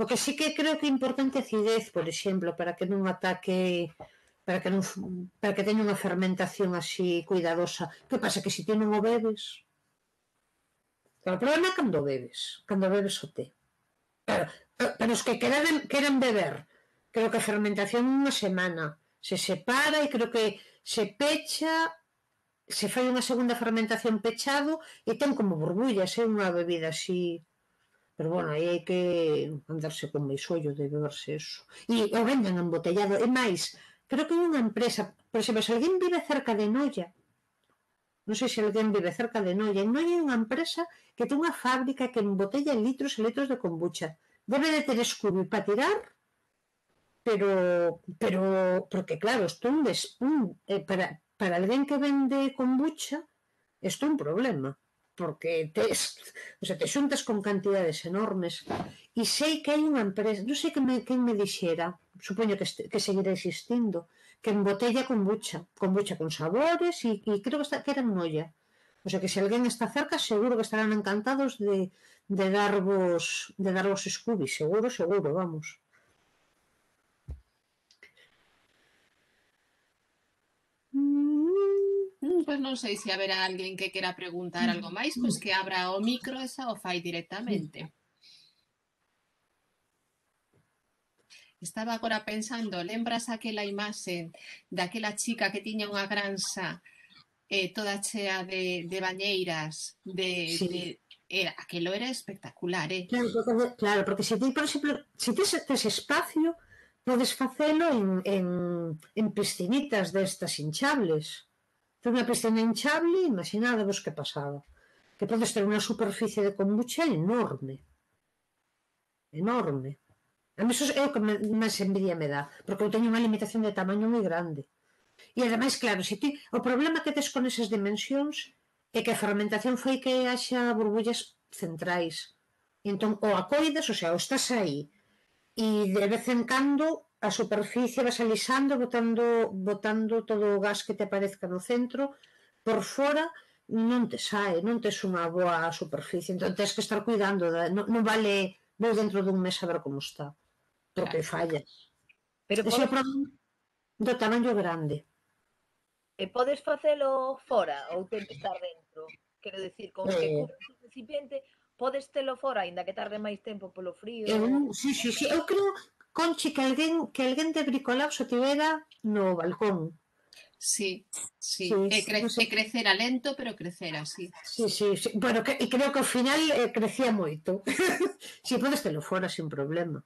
O que sí que creo que é importante a acidez, por exemplo, para que non ataque, para que teña unha fermentación así cuidadosa. Que pasa? Que se ti non o bebes... O problema é cando bebes o té. Pero os que queran beber, creo que a fermentación unha semana se separa e creo que se pecha, se fai unha segunda fermentación pechado e ten como burbullas, é unha bebida así... Pero bueno, aí hai que andarse con máis ollo de beberse eso. E o venden embotellado. E máis, creo que é unha empresa, por exemplo, se alguén vive cerca de Noia, non sei se alguén vive cerca de Noia, en Noia é unha empresa que ten unha fábrica que embotella litros e litros de kombucha. Debe de ter escuro para tirar, pero porque claro, isto é para alguén que vende kombucha, isto é un problema. Porque te xuntas con cantidades enormes e sei que hai unha empresa, non sei quen me dixera, supoño que seguirá existindo, que embotella kombucha con sabores e creo que era en Noia. O sea que se alguén está cerca seguro que estarán encantados de darvos Scooby, seguro, vamos. Pois non sei se haberá alguén que quera preguntar algo máis, pois que abra o micro e xa o fai directamente. Estaba agora pensando, lembras aquela imaxe daquela chica que tiña unha granxa toda chea de bañeiras, aquilo era espectacular, Claro, porque se ti, por exemplo, se tes espacio, podes facelo en piscinitas destas hinchables. Ten unha piscina hinchable, imaginadevos que pasaba. Que podes ter unha superficie de kombucha enorme. Enorme. A mí é o que máis envidia me dá, porque eu teño unha limitación de tamaño moi grande. E ademais, claro, o problema que tes con esas dimensións é que a fermentación fai que haxa burbullas centrais. E entón, o acoidas, o sea, o estás aí, e de vez en cando a superficie vas alisando, botando todo o gas que te aparezca no centro por fora, non te sae, non tes unha boa superficie, entón tens que estar cuidando, non vale vou dentro dun mes a ver como está, porque fallas. Pero Ese é o problema do tamaño grande. podes facelo fora ou ten que estar dentro? Quero dicir, con que cubres o recipiente, podes telo fora, aínda que tarde máis tempo polo frío? Sí. Eu creo, Conchi, que alguén de bricolabs o tivera no balcón. Sí. E crecera lento, pero crecera, sí. Sí. Bueno, e creo que ao final crecía moito. Si, podes telo fora sin problema.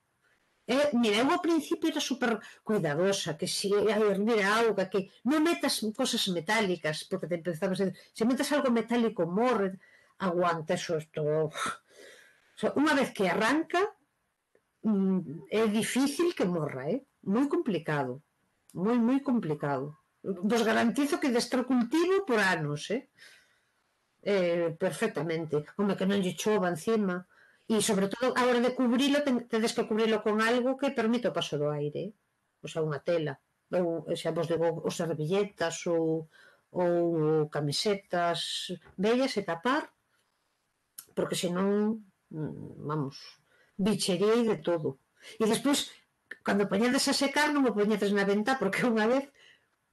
Mira, eu ao principio era super cuidadosa, que si a hervir a auga, que non metas cosas metálicas, porque te empezamos a decir, se metas algo metálico morre, aguanta eso, unha vez que arranca, é difícil que morra, moi complicado, moi complicado. Vos garantizo que destro cultivo por anos, perfectamente. Home, que non lle chova encima. E, sobre todo, a hora de cubrilo, tedes que cubrilo con algo que permita o paso do aire. O sea, unha tela. Ou, xa vos digo, os servilletas ou camisetas bellas e tapar, porque senón, vamos, bichería e de todo. E despois, cando poñedes a secar, non o poñedes na ventá, porque unha vez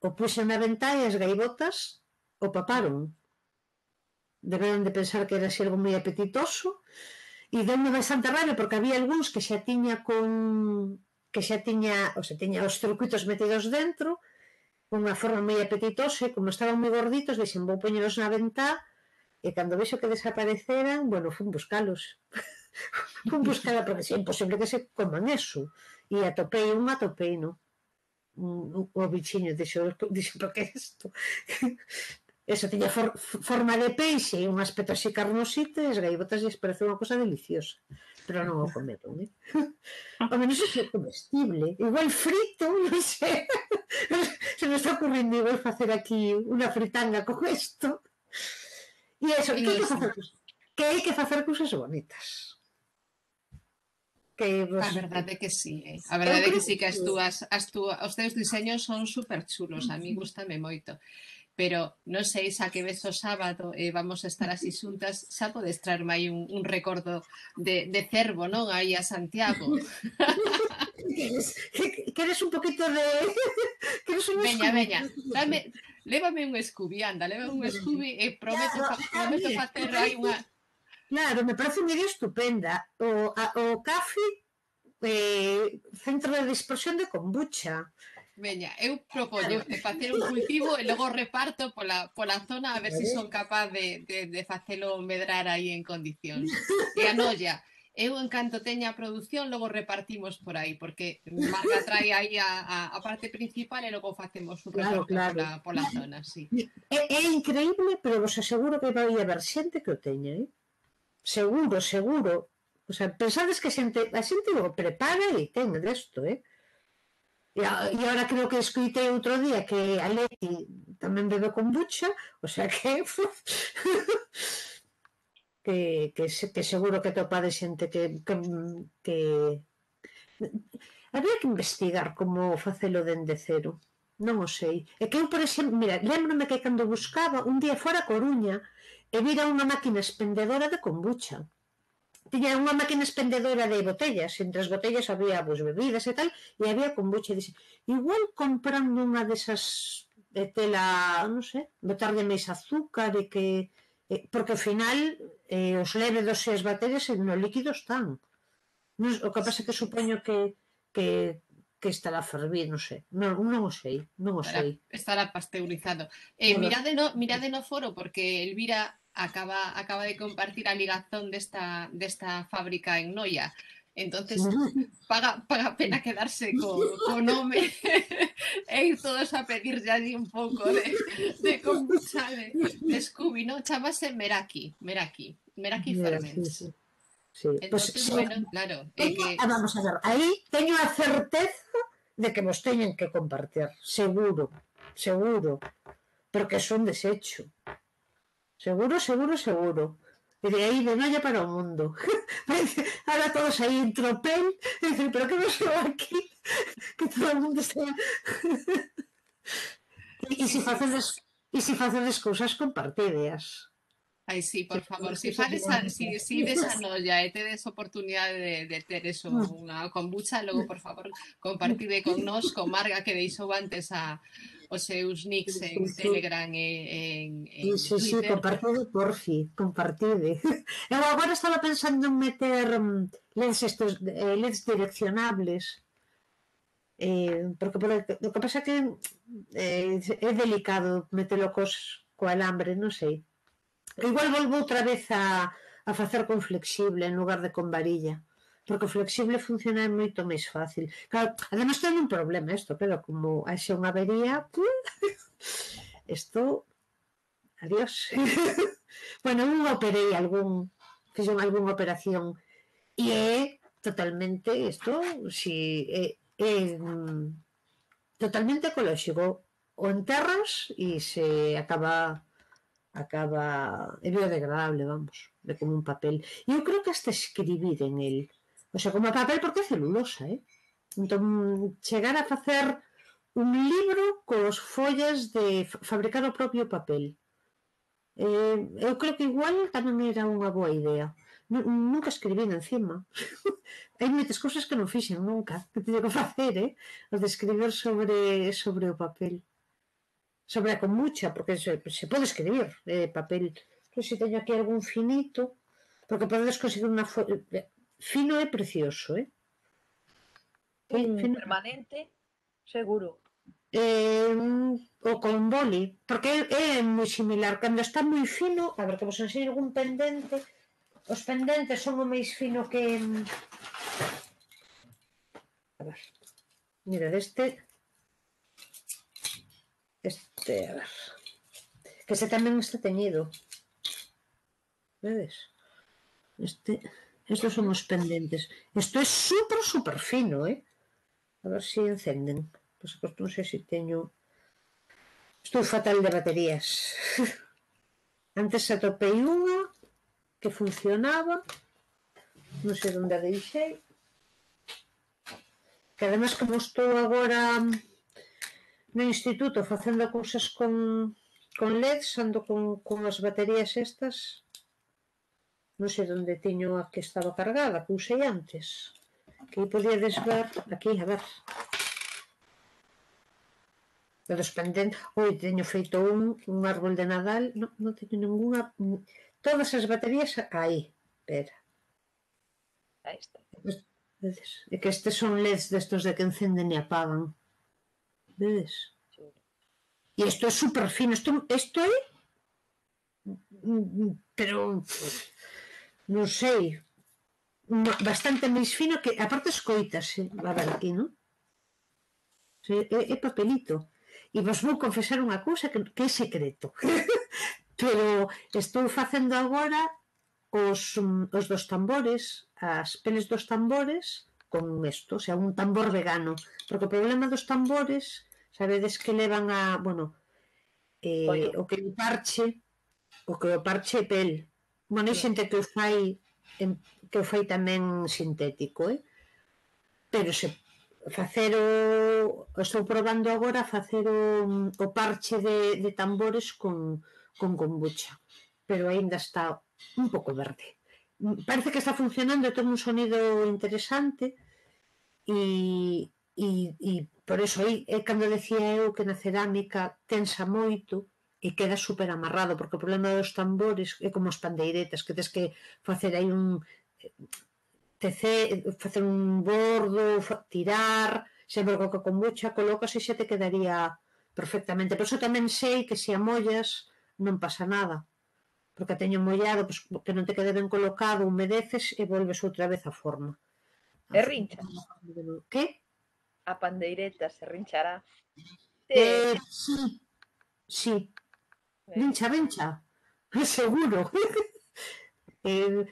o puxen na ventá e as gaivotas o paparon. Deberon de pensar que era así algo moi apetitoso e deu-me bastante rabia porque había algúns que xa tiña os circuitos metidos dentro unha forma moi apetitosa e como estaban moi gorditos dixen vou poñelos na ventá e cando vexo que desapareceran fun buscalos porque é imposible que se coman eso e atopei no o bichiño dixo, porque é isto? Eso tiña forma de peixe e un aspecto así carnosito e as gaivotas lles parece unha cosa deliciosa, pero non o comeron, Home, non sei se é comestible, igual frito, non sei, se me está ocurrindo igual facer aquí unha fritanga con isto. E eso, que hai que facer cousas bonitas. A verdade que sí, a verdade que sí, que os teus diseños son super chulos, a mí gustame moito. Pero non sei xa que ves o sábado vamos a estar así xuntas, xa podes traerme aí un recordo de Cervo, non? Aí a Santiago. Queres un poquito de... Veña, lévame un Scooby, anda, lévame un Scooby e prometo facer aí unha... Claro, me parece unha idea estupenda. O café, centro de dispersión de kombucha. Veña, eu propoño facer un cultivo e logo reparto pola zona a ver se son capaz de facelo medrar aí en condicións. E a noia, eu en canto teña a produción logo repartimos por aí, porque Marga trae aí a parte principal e logo facemos un reparto pola zona, sí. É increíble, pero vos aseguro que vai haber xente que o teña, Seguro. O sea, pensades que a xente o prepara e ten desto, E agora creo que escoitei outro día que a Leti tamén bebe kombucha, o sea que seguro que atopade xente que había que investigar como facelo dende cero, non o sei. É que eu, por exemplo, mira, lembrome que cando buscaba un día fora a Coruña e vira unha máquina expendedora de kombucha. Tiña unha máquina expendedora de botellas, entre as botellas había bebidas e tal, e había kombucha, e dixe, igual comprando unha desas de tela, non sei, botarlle máis azúcar e que... porque ao final os lévedos e as bacterias no líquido están. O que pasa é que supoño que estará a fervir, non sei. Non o sei. Estará pasteurizado. Mirade no foro, porque Elvira acaba de compartir a ligazón desta fábrica en Noia. Entonces, paga pena quedarse co nome e ir todos a pedir ya allí un pouco de kombucha de Scooby, non? Chamase Meraki Ferments. Entonces, bueno, claro. Vamos a ver, aí teño a certeza de que vos teñen que compartir. Seguro. Porque son desecho. Seguro. E de aí de Noia para o mundo. Ahora todos aí en tropel. Pero que vos vou aquí? Que todo o mundo está... E se facedes E se facedes cousas compartideas. Ai, sí, por favor, se ides a Noia e tedes oportunidade de ter eso, unha kombucha, logo, por favor, compartide con nós, con Marga, que deixou antes os seus nicks en Telegram e en Twitter. Compartide, porfi, compartide. Eu agora estaba pensando en meter LEDs direccionables, porque o que pasa que é delicado metelo co alambre, non sei. Igual volvo outra vez a facer con flexible en lugar de con varilla, porque o flexible funciona moito máis fácil. Claro, además ten un problema isto, pero como haxe unha avería, isto, adiós. Bueno, eu operei fixen algunha operación e é totalmente isto, si é totalmente ecolóxico. O enterras e se acaba é biodegradable, vamos, de como un papel. E eu creo que hasta escribir en el, o sea, como papel, porque é celulosa, entón, chegar a facer un libro cos follas de fabricar o propio papel. Eu creo que igual tamén era unha boa idea. Nunca escribín encima. Hai moitas cousas que non fixen nunca, que teño que facer, o de escribir sobre o papel. Sobre a kombucha, porque se pode escribir papel. Non sei se teño aquí algún finito, porque podedes conseguir unha fino é precioso, Un permanente, seguro. O con boli, porque é moi similar. Cando está moi fino, a ver, que vos enseño algún pendente. Os pendentes son o máis fino que... A ver, mira, este, a ver, que ese tamén está teñido. Vedes? Estos son os pendentes. Isto é super fino, A ver se encenden. Pois non sei se teño... Estou fatal de baterías. Antes atopei unha que funcionaba, non sei onde a deixei, que además como estou agora no instituto facendo cousas con LEDs, ando con as baterías estas, non sei onde teño a que estaba cargada, que usei antes, que aí podíades ver, aquí, a ver, dos pendentes. Oi, teño feito un árbol de Nadal, non teño ninguna, todas as baterías aí, espera. Aí está. Vedes? É que estes son LEDs destos de que encenden e apagan. Vedes? E isto é super fino. Isto é... Pero... Non sei. Bastante máis fino que... Aparte escoítase. A ver aquí, non? É papelito. E vos vou confesar unha cousa que é secreto. Pero estou facendo agora os dos tambores, as peles dos tambores con isto, o sea, un tambor vegano, porque o problema dos tambores, sabedes que levan a, bueno, o que o parche é pel. Bueno, hai xente que o fai tamén sintético, pero se facer estou probando agora facer o parche de tambores con kombucha, pero aínda está un pouco verde. Parece que está funcionando, ten un sonido interesante e por eso aí é cando decía eu que na cerámica tensa moito e queda super amarrado, porque o problema dos tambores é como as pandeiretas, que tens que facer aí facer un bordo, tirar, sempre co kombucha colocas e xa te quedaría perfectamente. Por iso tamén sei que se a mollas non pasa nada, porque teño mollado, pues, que non te quede ben colocado, humedeces e volves outra vez á forma. E rincha. Que? A pandeireta se rinchará. Sí. Rincha, seguro.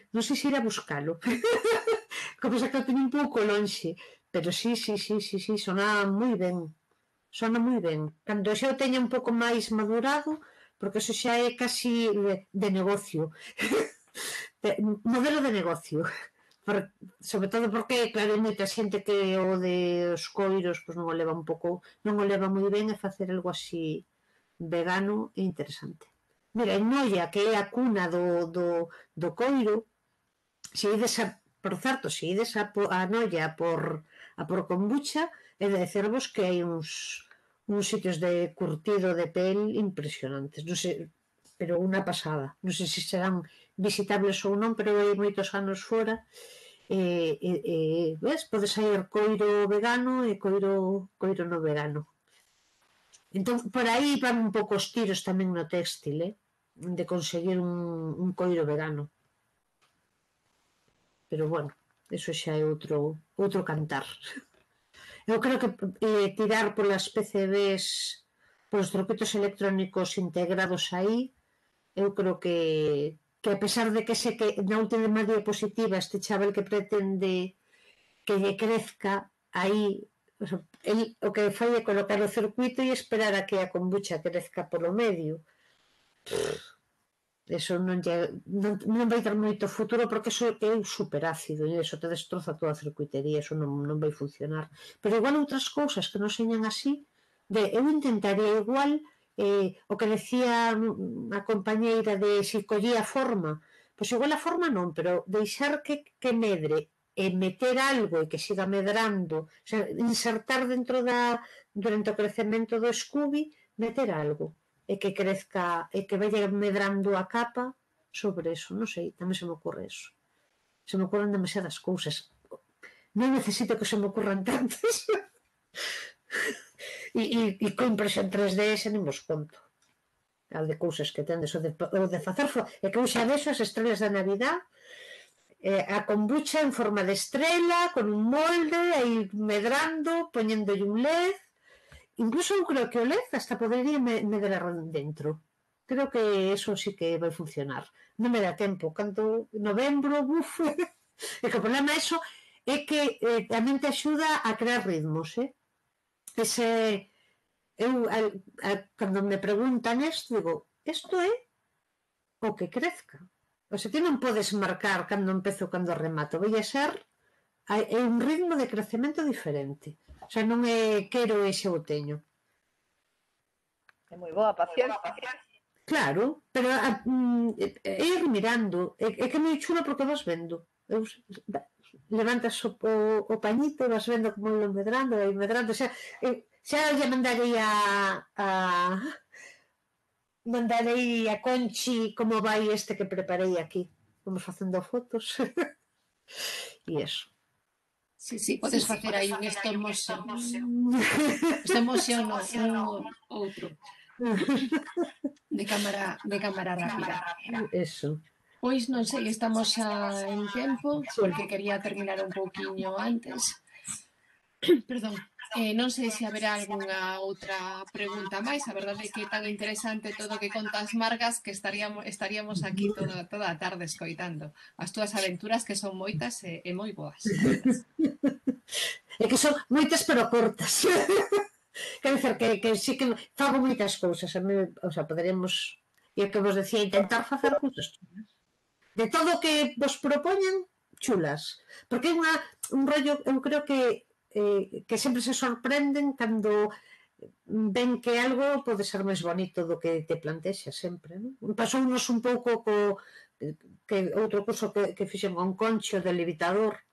Non sei se ir a buscalo. Como se que o teño un pouco lonxe, pero sí, sona moi ben. Cando xa o teña un pouco máis madurado, porque eso xa é casi de negocio. Modelo de negocio. Sobre todo porque, claro, hai moita xente que o de os coiros non o leva moi ben, e facer algo así vegano é interesante. Mira, en Noia, que é a cuna do coiro, por certo, se ides a Noia a por kombucha, é de decervos que hai uns sitios de curtido de pel impresionantes, non sei, pero unha pasada, non sei se serán visitables ou non, pero hai moitos anos fora, ves, podes sair coiro vegano e coiro no vegano. Entón, por aí van un pouco os tiros tamén no téxtil, de conseguir un coiro vegano. Pero, bueno, eso xa é outro cantar. Eu creo que tirar polas PCBs, polos circuitos electrónicos integrados aí, eu creo que a pesar de que sei que na última diapositiva este chaval que pretende que lle crezca aí, o que fai é colocar o circuito e esperar a que a kombucha crezca polo medio. Eso non vai ter moito futuro porque eso é super ácido e eso te destroza toda a circuitería, eso non vai funcionar. Pero igual outras cousas que non señan así, eu intentaría igual o que decía a compañeira de se collía a forma, pois igual a forma non, pero deixar que medre e meter algo e que siga medrando, o sea, insertar durante o crecemento do Scooby, meter algo e que crezca e que vaya medrando a capa sobre eso, non sei, tamén se me ocurre eso. Se me ocurren demasiadas cousas. Non necesito que se me ocurran tantas. E con impresión 3D ese non vos conto. A de cousas que tendes, o de facer e que eu xa vexo as estrelas da Navidad, a kombucha en forma de estrela, con un molde, aí medrando, poñéndolle un LED. Incluso eu creo que o LED hasta podería medrar dentro. Creo que eso sí que vai funcionar. Non me dá tempo. Canto novembro, buf. E que o problema eso é que tamén te axuda a crear ritmos, cando me preguntan isto, digo, isto é o que crezca. O sea, ti non podes marcar cando empezo ou cando remato. Vai a ser un ritmo de crecemento diferente. O sea, non é quero e xa o teño. É moi boa paciencia. Claro, pero é ir mirando. É que é moi chulo porque vas vendo. Levantas o pañito e vas vendo como lo medrando, e medrando. Xa lle mandarei a Conchi como vai este que preparei aquí. Vamos facendo fotos. E eso. Sí, podes facer aí un stop motion. Stop motion outro. De cámara rápida. Eso. Pois non sei, estamos xa en tempo, porque quería terminar un pouquiño antes. Perdón. Non sei se haberá algunha outra pregunta máis. A verdade é que é tan interesante todo o que contas, Margas, que estaríamos aquí toda a tarde escoitando as túas aventuras, que son moitas e moi boas. É que son moitas pero cortas. Quer dizer que sí que fago moitas cousas. O sea, poderíamos, e que vos decía, intentar facer cousas chulas. De todo o que vos propoñen, chulas. Porque é un rollo, eu creo que sempre se sorprenden cando ven que algo pode ser máis bonito do que te plantexa sempre, non? Pasounos un pouco que outro curso que fixen con Concho de levitador,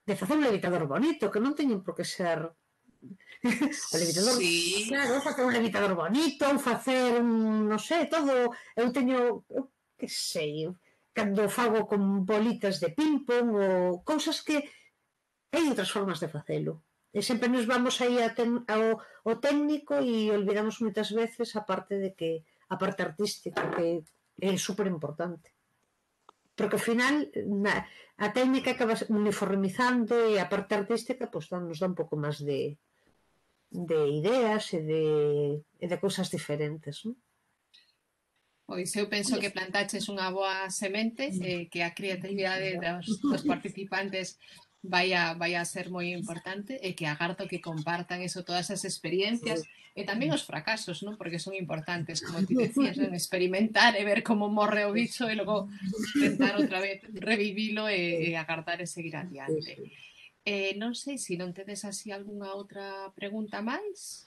de facer un levitador bonito, que non teñen por que ser o levitador, claro, facer un levitador bonito, facer non sei, todo, eu teño, que sei, cando fago con bolitas de ping-pong ou cousas que hai outras formas de facelo. E sempre nos vamos aí ao técnico e olvidamos moitas veces a parte artística, que é super importante. Porque ao final a técnica acaba uniformizando e a parte artística nos dá un pouco máis de ideas e de cousas diferentes, non? Pois eu penso que plantaches unha boa semente, que a creatividade dos participantes vai a ser moi importante e que agardo que compartan todas as experiencias e tamén os fracasos, non? Porque son importantes, como ti decías, non? Experimentar e ver como morre o bicho e logo tentar outra vez revivilo e agardar e seguir adiante. Non sei se non tedes así algunha outra pregunta máis.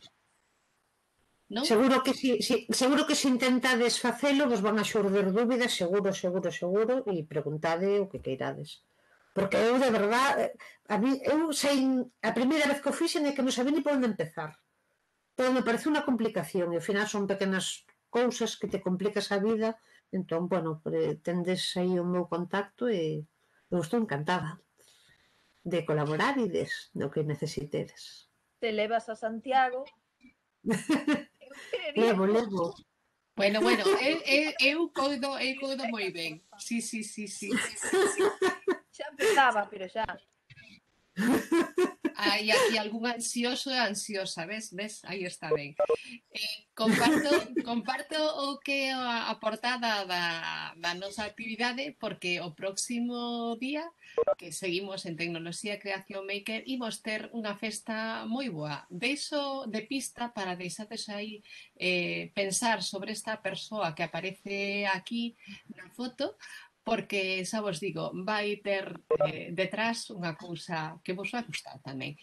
non? Seguro que se intentades facelo vos van a xurdir dúbidas, seguro, e preguntade o que queirades. Porque eu, de verdad, a primeira vez que o fixen é que non sabía ni por onde empezar. Todo me parece unha complicación, e ao final son pequenas cousas que te complicas a vida. Entón, bueno, tendes aí o meu contacto e eu estou encantada de colaborar e no que necesitedes. Te levas a Santiago. Levo. Bueno, eu coido moi ben. Sí. Xa empezaba, pero xa. Hai aquí algún ansioso e ansiosa, ves? Aí está ben. Comparto o que é a portada da nosa actividade, porque o próximo día, que seguimos en Tecnoloxía e Creación Maker, imos ter unha festa moi boa. Deixo de pista para deixades aí pensar sobre esta persoa que aparece aquí na foto, porque, xa vos digo, vai ter detrás unha cousa que vos vai gustar tamén.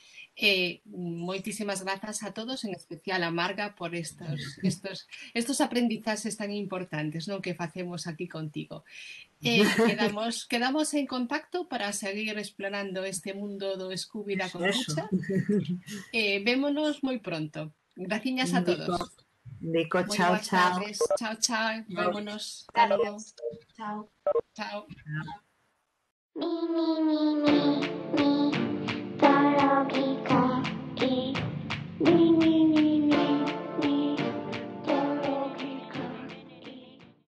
Moitísimas grazas a todos, en especial a Marga, por estos aprendizaxes tan importantes, non, que facemos aquí contigo. Quedamos en contacto para seguir explorando este mundo do Scooby da kombucha. Vémonos moi pronto. Graciñas a todos. Nico, chao. Chao. Vémonos. Hasta logo. Chao. Chao.